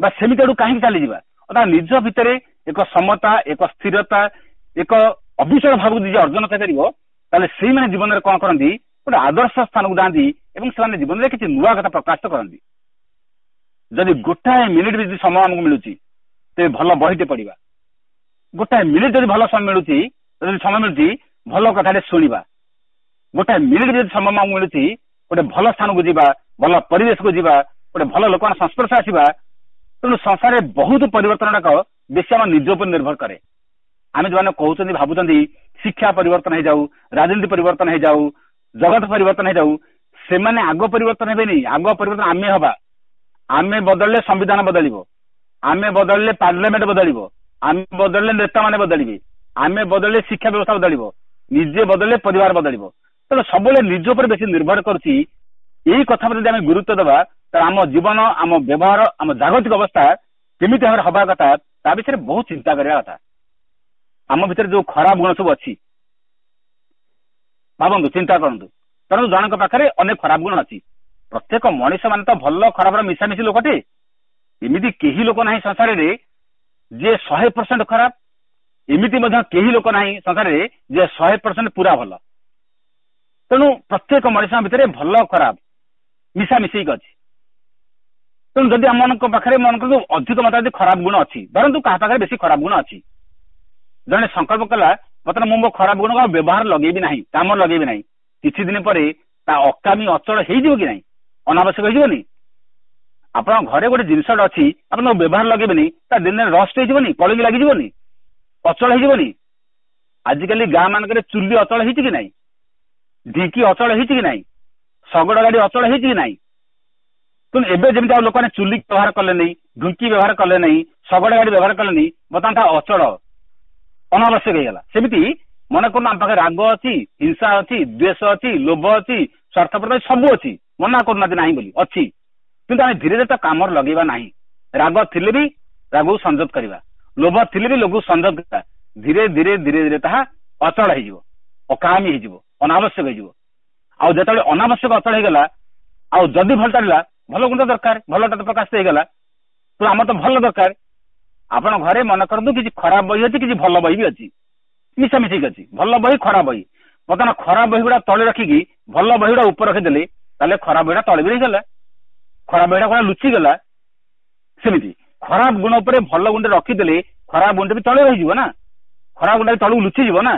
ବା ସେମିତି ଆଡୁ କାହିଁକି ଚାଲିଯିବା? ଅର୍ଥାତ୍ ନିଜ ଭିତରେ ଏକ ସମତା, ଏକ ସ୍ଥିରତା, ଏକ ଅବିଚଳ ଭାବକୁ ନିଜେ ଅର୍ଜନ କରିପାରିବ, ତାହେଲେ ସେଇମାନେ ଜୀବନରେ କଣ କରନ୍ତି? ଗୋଟେ ଆଦର୍ଶ ସ୍ଥାନକୁ ଯାଆନ୍ତି ଏବଂ ସେମାନେ ଜୀବନରେ କିଛି ନୂଆ କଥା ପ୍ରକାଶ କରନ୍ତି। ଯଦି ଗୋଟାଏ ମିନିଟ୍ ବି ଯଦି ସମୟ ଆମକୁ ମିଳୁଛି, ତେବେ ଭଲ ବହିଟେ ପଢିବା। ଗୋଟାଏ ମିନିଟ୍ ଯଦି ଭଲ ସମୟ ମିଳୁଛି, ଯଦି ସମୟ ମିଳୁଛି, ଭଲ କଥାଟେ ଶୁଣିବା। ଗୋଟାଏ ମିନିଟ୍ ଯଦି ସମୟ ଆମକୁ ମିଳୁଛି, ଗୋଟେ ଭଲ ସ୍ଥାନକୁ ଯିବା, ଭଲ ପରିବେଶକୁ ଯିବା, ଗୋଟେ ଭଲ ଲୋକମାନଙ୍କ ସଂସ୍ପର୍ଶ ଆସିବା। ତେଣୁ ସଂସାରରେ ବହୁତ ପରିବର୍ତ୍ତନ ଗୁଡାକ ବେଶୀ ଆମ ନିଜ ଉପରେ ନିର୍ଭର କରେ। ଆମେ ଯୋଉମାନେ କହୁଛନ୍ତି, ଭାବୁଛନ୍ତି ଶିକ୍ଷା ପରିବର୍ତ୍ତନ ହେଇଯାଉ, ରାଜନୀତି ପରିବର୍ତ୍ତନ ହେଇଯାଉ, ଜଗତ ପରିବର୍ତ୍ତନ ହେଇଯାଉ, ସେମାନେ ଆଗ ପରିବର୍ତ୍ତନ ହେବେନି, ଆଗ ପରିବର୍ତ୍ତନ ଆମେ ହବା। ଆମେ ବଦଳିଲେ ସମ୍ବିଧାନ ବଦଳିବ, ଆମେ ବଦଳିଲେ ପାର୍ଲାମେଣ୍ଟ ବଦଳିବ, ଆମେ ବଦଳିଲେ ନେତାମାନେ ବଦଳିବେ, ଆମେ ବଦଳିଲେ ଶିକ୍ଷା ବ୍ୟବସ୍ଥା ବଦଳିବ, ନିଜେ ବଦଳିଲେ ପରିବାର ବଦଳିବ। ତେଣୁ ସବୁବେଳେ ନିଜ ଉପରେ ବେଶୀ ନିର୍ଭର କରୁଛି। ଏଇ କଥା ଯଦି ଆମେ ଗୁରୁତ୍ୱ ଦେବା, ତାହେଲେ ଆମ ଜୀବନ, ଆମ ବ୍ୟବହାର, ଆମ ଜାଗତିକ ଅବସ୍ଥା କେମିତି ଭାବରେ ହବା କଥା ତା ବିଷୟରେ ବହୁତ ଚିନ୍ତା କରିବା କଥା। ଆମ ଭିତରେ ଯୋଉ ଖରାପ ଗୁଣ ସବୁ ଅଛି, ଭାବନ୍ତୁ, ଚିନ୍ତା କରନ୍ତୁ। ତେଣୁ ଜଣଙ୍କ ପାଖରେ ଅନେକ ଖରାପ ଗୁଣ ଅଛି। ପ୍ରତ୍ୟେକ ମଣିଷ ମାନେ ତ ଭଲ ଖରାପର ମିଶାମିଶି ଲୋକଟେ। ଏମିତି କେହି ଲୋକ ନାହିଁ ସଂସାରରେ ଯିଏ 100% ଖରାପ, ଏମିତି ମଧ୍ୟ କେହି ଲୋକ ନାହିଁ ସଂସାରରେ ଯିଏ 100% ପୁରା ଭଲ। ତେଣୁ ପ୍ରତ୍ୟେକ ମଣିଷଙ୍କ ଭିତରେ ଭଲ ଖରାପ ମିଶାମିଶି ହେଇକି ଅଛି। ତେଣୁ ଯଦି ଆମମାନଙ୍କ ପାଖରେ ମନେ କରନ୍ତୁ ଅଧିକ ମାତ୍ରାରେ ଯଦି ଖରାପ ଗୁଣ ଅଛି, ଧରନ୍ତୁ କାହା ପାଖରେ ବେଶୀ ଖରାପ ଗୁଣ ଅଛି, ଜଣେ ସଂକଳ୍ପ କଲା ବର୍ତ୍ତମାନ ମୁଁ ମୋ ଖରାପ ଗୁଣକୁ ଆଉ ବ୍ୟବହାର ଲଗେଇବି ନାହିଁ, କାମ ଲଗେଇବି ନାହିଁ, କିଛି ଦିନ ପରେ ତା ଅକାମୀ ଅଚଳ ହେଇଯିବ କି ନାହିଁ? ଅନାବଶ୍ୟକ ହେଇଯିବନି? ଆପଣଙ୍କ ଘରେ ଗୋଟେ ଜିନିଷଟା ଅଛି, ଆପଣ ତାକୁ ବ୍ୟବହାର ଲଗେଇବେନି, ତା ଦିନେ ରଷ୍ଟ ହେଇଯିବନି, କଳିଙ୍ଗି ଲାଗିଯିବନି, ଅଚଳ ହେଇଯିବନି? ଆଜିକାଲି ଗାଁ ମାନଙ୍କରେ ଚୁଲି ଅଚଳ ହେଇଛି କି ନାହିଁ? ଢିଙ୍କି ଅଚଳ ହେଇଛି କି ନାହିଁ? ଶଗଡ଼ ଗାଡି ଅଚଳ ହେଇଛି କି ନାହିଁ? ତେଣୁ ଏବେ ଯେମିତି ଆଉ ଲୋକମାନେ ଚୁଲି ବ୍ୟବହାର କଲେନି, ଢୁଙ୍କି ବ୍ୟବହାର କଲେ ନାହିଁ, ଶଗଡ଼ ଗାଡି ବ୍ୟବହାର କଲେନି, ବର୍ତ୍ତମାନ ତା ଅଚଳ ଅନାବଶ୍ୟକ ହେଇଗଲା। ସେମିତି ମନେ କରୁନ ଆମ ପାଖରେ ରାଗ ଅଛି, ହିଂସା ଅଛି, ଦ୍ୱେଷ ଅଛି, ଲୋଭ ଅଛି, ସ୍ୱାର୍ଥପରତା ସବୁ ଅଛି, ମନା କରୁନାହାନ୍ତି ନାହିଁ ବୋଲି, ଅଛି, କିନ୍ତୁ ଆମେ ଧୀରେ ଧୀରେ ତା କାମରେ ଲଗେଇବା ନାହିଁ। ରାଗ ଥିଲେ ବି ରାଗକୁ ସଂଯତ କରିବା, ଲୋଭ ଥିଲେ ବି ଲୋଭକୁ ସଂଯତ କରିବା। ଧୀରେ ଧୀରେ ଧୀରେ ଧୀରେ ତାହା ଅଚଳ ହେଇଯିବ, ଅକାମୀ ହେଇଯିବ, ଅନାବଶ୍ୟକ ହେଇଯିବ। ଆଉ ଯେତେବେଳେ ଅନାବଶ୍ୟକ ଅଚଳ ହେଇଗଲା, ଆଉ ଯଦି ଭଲ ଚାଲିଲା, ଭଲ ଗୁଣ ଦରକାର, ଭଲଟା ତ ପ୍ରକାଶିତ ହେଇଗଲା, ତ ଆମର ତ ଭଲ ଦରକାର। ଆପଣ ଘରେ ମନେ କରନ୍ତୁ କିଛି ଖରାପ ବହି ଅଛି, କିଛି ଭଲ ବହି ବି ଅଛି, ମିଶାମିଶିକି ଅଛି, ଭଲ ବହି ଖରାପ ବହି। ବର୍ତ୍ତମାନ ଖରାପ ବହି ଗୁଡା ତଳେ ରଖିକି ଭଲ ବହି ଗୁଡା ଉପରେ ରଖିଦେଲେ, ତାହେଲେ ଖରାପ ବହିଟା ତଳେ ବି ରହିଗଲା, ଖରାପ ବହିଟା କଣ ଲୁଚିଗଲା। ସେମିତି ଖରାପ ଗୁଣ ଉପରେ ଭଲ ଗୁଣଟେ ରଖିଦେଲେ ଖରାପ ଗୁଣଟା ବି ତଳେ ରହିଯିବ ନା, ଖରାପ ଗୁଣଟା ବି ତଳକୁ ଲୁଚିଯିବ ନା।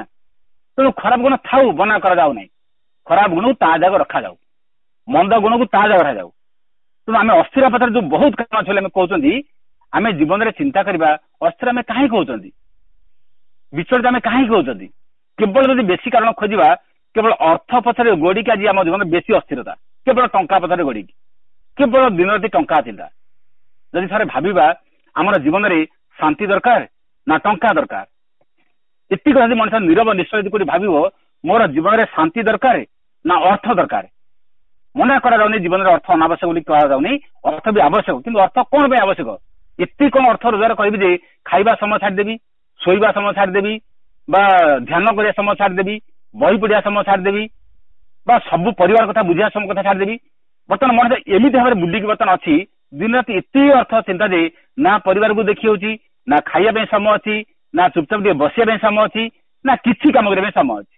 ତେଣୁ ଖରାପ ଗୁଣ ଥାଉ, ମନା କରାଯାଉ ନାହିଁ, ଖରାପ ଗୁଣକୁ ତା ଜାଗା ରଖାଯାଉ, ମନ୍ଦ ଗୁଣକୁ ତା ଜାଗା ରଖାଯାଉ। ତେଣୁ ଆମେ ଅସ୍ଥିର ପଥରେ ଯୋଉ ବହୁତ କାରଣ ଅଛି ବୋଲି ଆମେ କହୁଛନ୍ତି, ଆମେ ଜୀବନରେ ଚିନ୍ତା କରିବା ଅସ୍ଥିର ଆମେ କାହିଁକି ହଉଛନ୍ତି, ବିଚଳିତ ଆମେ କାହିଁକି ହଉଛନ୍ତି। କେବଳ ଯଦି ବେଶୀ କାରଣ ଖୋଜିବା, କେବଳ ଅର୍ଥ ପଛରେ ଗୋଡିକି ଆଜି ଆମ ଜୀବନରେ ବେଶୀ ଅସ୍ଥିରତା, କେବଳ ଟଙ୍କା ପଛରେ ଗୋଡିକି, କେବଳ ଦିନ ରାତି ଟଙ୍କା ଚିନ୍ତା। ଯଦି ଥରେ ଭାବିବା ଆମର ଜୀବନରେ ଶାନ୍ତି ଦରକାର ନା ଟଙ୍କା ଦରକାର, ଏତିକି ଯଦି ମଣିଷ ନିରବ ନିଶ୍ଚୟ ଯଦି କରି ଭାବିବ ମୋର ଜୀବନରେ ଶାନ୍ତି ଦରକାର ନା ଅର୍ଥ ଦରକାର, ମନା କରାଯାଉନି ଜୀବନରେ ଅର୍ଥ ଅନାବଶ୍ୟକ ବୋଲି କୁହାଯାଉନି, ଅର୍ଥ ବି ଆବଶ୍ୟକ, କିନ୍ତୁ ଅର୍ଥ କଣ ପାଇଁ ଆବଶ୍ୟକ? ଏତିକି କଣ ଅର୍ଥ ରୋଜଗାର କରିବି ଯେ ଖାଇବା ସମୟ ଛାଡ଼ିଦେବି, ଶୋଇବା ସମୟ ଛାଡ଼ିଦେବି, ବା ଧ୍ୟାନ କରିବା ସମୟ ଛାଡ଼ିଦେବି, ବହି ପଢିବା ସମୟ ଛାଡ଼ିଦେବି, ବା ସବୁ ପରିବାର କଥା ବୁଝିବା ସମୟ କଥା ଛାଡ଼ିଦେବି। ବର୍ତ୍ତମାନ ମଣିଷ ଏମିତି ଭାବରେ ବୁଲିକି ବର୍ତ୍ତମାନ ଅଛି, ଦିନ ରାତି ଏତେ ଅର୍ଥ ଚିନ୍ତା ଯେ ନା ପରିବାରକୁ ଦେଖି ହଉଛି, ନା ଖାଇବା ପାଇଁ ସମୟ ଅଛି, ନା ଚୁପଚାପ ଟିକେ ବସିବା ପାଇଁ ସମୟ ଅଛି, ନା କିଛି କାମ କରିବା ପାଇଁ ସମୟ ଅଛି।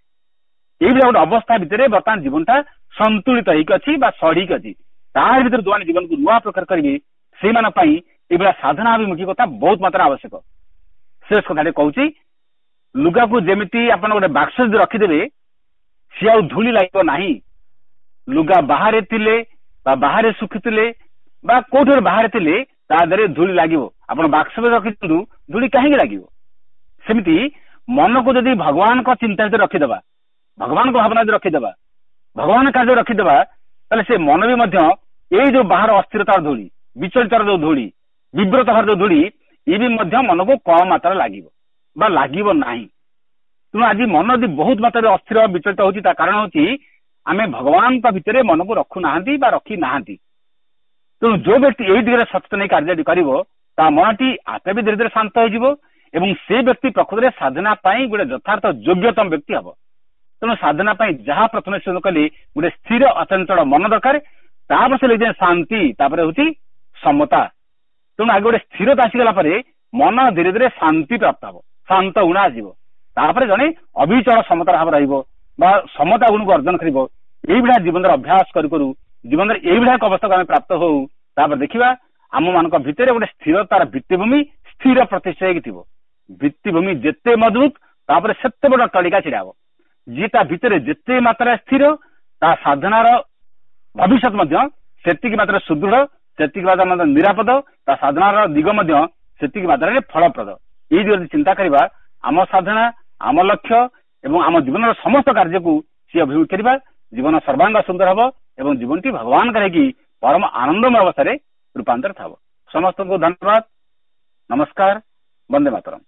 ଏଇଭଳିଆ ଗୋଟେ ଅବସ୍ଥା ଭିତରେ ବର୍ତ୍ତମାନ ଜୀବନଟା ସନ୍ତୁଳିତ ହେଇକି ଅଛି ବା ସଢିକି ଅଛି। ତାରି ଭିତରେ ଯୋଉମାନେ ଜୀବନକୁ ନୂଆ ପ୍ରକାର କରିବେ, ସେଇମାନଙ୍କ ପାଇଁ ଏଇଭଳିଆ ସାଧନାଭିମୁଖୀ କଥା ବହୁତ ମାତ୍ରାରେ ଆବଶ୍ୟକ। ଶେଷ କଥାଟି କହୁଛି, ଲୁଗାକୁ ଯେମିତି ଆପଣ ଗୋଟେ ବାକ୍ସ ଯଦି ରଖିଦେବେ ସିଏ ଆଉ ଧୂଳି ଲାଗିବ ନାହିଁ। ଲୁଗା ବାହାରେ ଥିଲେ ବା ବାହାରେ ଶୁଖିଥିଲେ ବା କୋଉଠି ବାହାରେ ଥିଲେ ତା ଦେହରେ ଧୂଳି ଲାଗିବ। ଆପଣ ବାକ୍ସରେ ରଖିଦିଅନ୍ତୁ, ଧୂଳି କାହିଁକି ଲାଗିବ? ସେମିତି ମନକୁ ଯଦି ଭଗବାନଙ୍କ ଚିନ୍ତା ଭିତରେ ରଖିଦେବା, ଭଗବାନଙ୍କ ଭାବନା ଯଦି ରଖିଦେବା, ଭଗବାନ କାର୍ଯ୍ୟ ରଖିଦେବା, ତାହେଲେ ସେ ମନ ବି ମଧ୍ୟ ଏଇ ଯୋଉ ବାହାର ଅସ୍ଥିରତାର ଧୂଳି, ବିଚଳିତର ଯୋଉ ଧୂଳି, ବିବ୍ରତ ଭାର ଯୋଉ ଧୂଳି, ଇଏ ବି ମଧ୍ୟ ମନକୁ କମ ମାତ୍ରାରେ ଲାଗିବ ବା ଲାଗିବ ନାହିଁ। ତେଣୁ ଆଜି ମନ ଯଦି ବହୁତ ମାତ୍ରାରେ ଅସ୍ଥିର ବିଚଳିତ ହଉଛି, ତା କାରଣ ହଉଛି ଆମେ ଭଗବାନଙ୍କ ଭିତରେ ମନକୁ ରଖୁନାହାନ୍ତି ବା ରଖି ନାହାନ୍ତି। ତେଣୁ ଯୋଉ ବ୍ୟକ୍ତି ଏଇ ଦିଗରେ ସଚେତନ ହେଇ କାର୍ଯ୍ୟଟି କରିବ, ତା ମନଟି ଆପେ ବି ଧୀରେ ଧୀରେ ଶାନ୍ତ ହେଇଯିବ ଏବଂ ସେ ବ୍ୟକ୍ତି ପ୍ରକୃତରେ ସାଧନା ପାଇଁ ଗୋଟେ ଯଥାର୍ଥ ଯୋଗ୍ୟତମ ବ୍ୟକ୍ତି ହବ। ତେଣୁ ସାଧନା ପାଇଁ ଯାହା ପ୍ରଥମେ ସେ କଲି ଗୋଟେ ସ୍ଥିର ଅଚଞ୍ଚଳ ମନ ଦରକାର, ତାପରେ ସେ ଲେଖିଛନ୍ତି ଶାନ୍ତି, ତାପରେ ହଉଛି ସମତା। ତେଣୁ ଆଗେ ଗୋଟେ ସ୍ଥିରତା ଆସିଗଲା ପରେ ମନ ଧୀରେ ଧୀରେ ଶାନ୍ତି ପ୍ରାପ୍ତ ହବ, ଶାନ୍ତ ଗୁଣ ଆସିବ, ତାପରେ ଜଣେ ଅବିଚଳ ସମତାର ଭାବ ରହିବ ବା ସମତା ଗୁଣକୁ ଅର୍ଜନ କରିବ। ଏଇଭଳିଆ ଜୀବନର ଅଭ୍ୟାସ କରୁ କରୁ ଜୀବନରେ ଏଇଭଳିଆ ଏକ ଅବସ୍ଥାକୁ ଆମେ ପ୍ରାପ୍ତ ହଉ, ତାପରେ ଦେଖିବା ଆମ ମାନଙ୍କ ଭିତରେ ଗୋଟେ ସ୍ଥିରତାର ଭିତ୍ତିଭୂମି ସ୍ଥିର ପ୍ରତିଷ୍ଠା ହେଇକି ଥିବ। ଭିତ୍ତିଭୂମି ଯେତେ ମଜବୁତ, ତାପରେ ସେତେ ବଡ ଅଟ୍ଟାଳିକା ଛିଡା ହବ। ଯିଏ ତା ଭିତରେ ଯେତେ ମାତ୍ରାରେ ସ୍ଥିର, ତା ସାଧନାର ଭବିଷ୍ୟତ ମଧ୍ୟ ସେତିକି ମାତ୍ରାରେ ସୁଦୃଢ, ସେତିକି ମାତ୍ରାରେ ମଧ୍ୟ ନିରାପଦ, ତା ସାଧନାର ଦିଗ ମଧ୍ୟ ସେତିକି ମାତ୍ରାରେ ଫଳପ୍ରଦ। ଏଇ ଦିଗରେ ଚିନ୍ତା କରିବା, ଆମ ସାଧନା, ଆମ ଲକ୍ଷ୍ୟ ଏବଂ ଆମ ଜୀବନର ସମସ୍ତ କାର୍ଯ୍ୟକୁ ସିଏ ଅଭିମୁଖ କରିବା, ଜୀବନ ସର୍ବାଙ୍ଗ ସୁନ୍ଦର ହବ ଏବଂ ଜୀବନଟି ଭଗବାନଙ୍କର ହେଇକି ପରମ ଆନନ୍ଦମୟ ଅବସ୍ଥାରେ ରୂପାନ୍ତରିତ ହବ। ସମସ୍ତଙ୍କୁ ଧନ୍ୟବାଦ, ନମସ୍କାର, ବନ୍ଦେ ମାତରମ୍।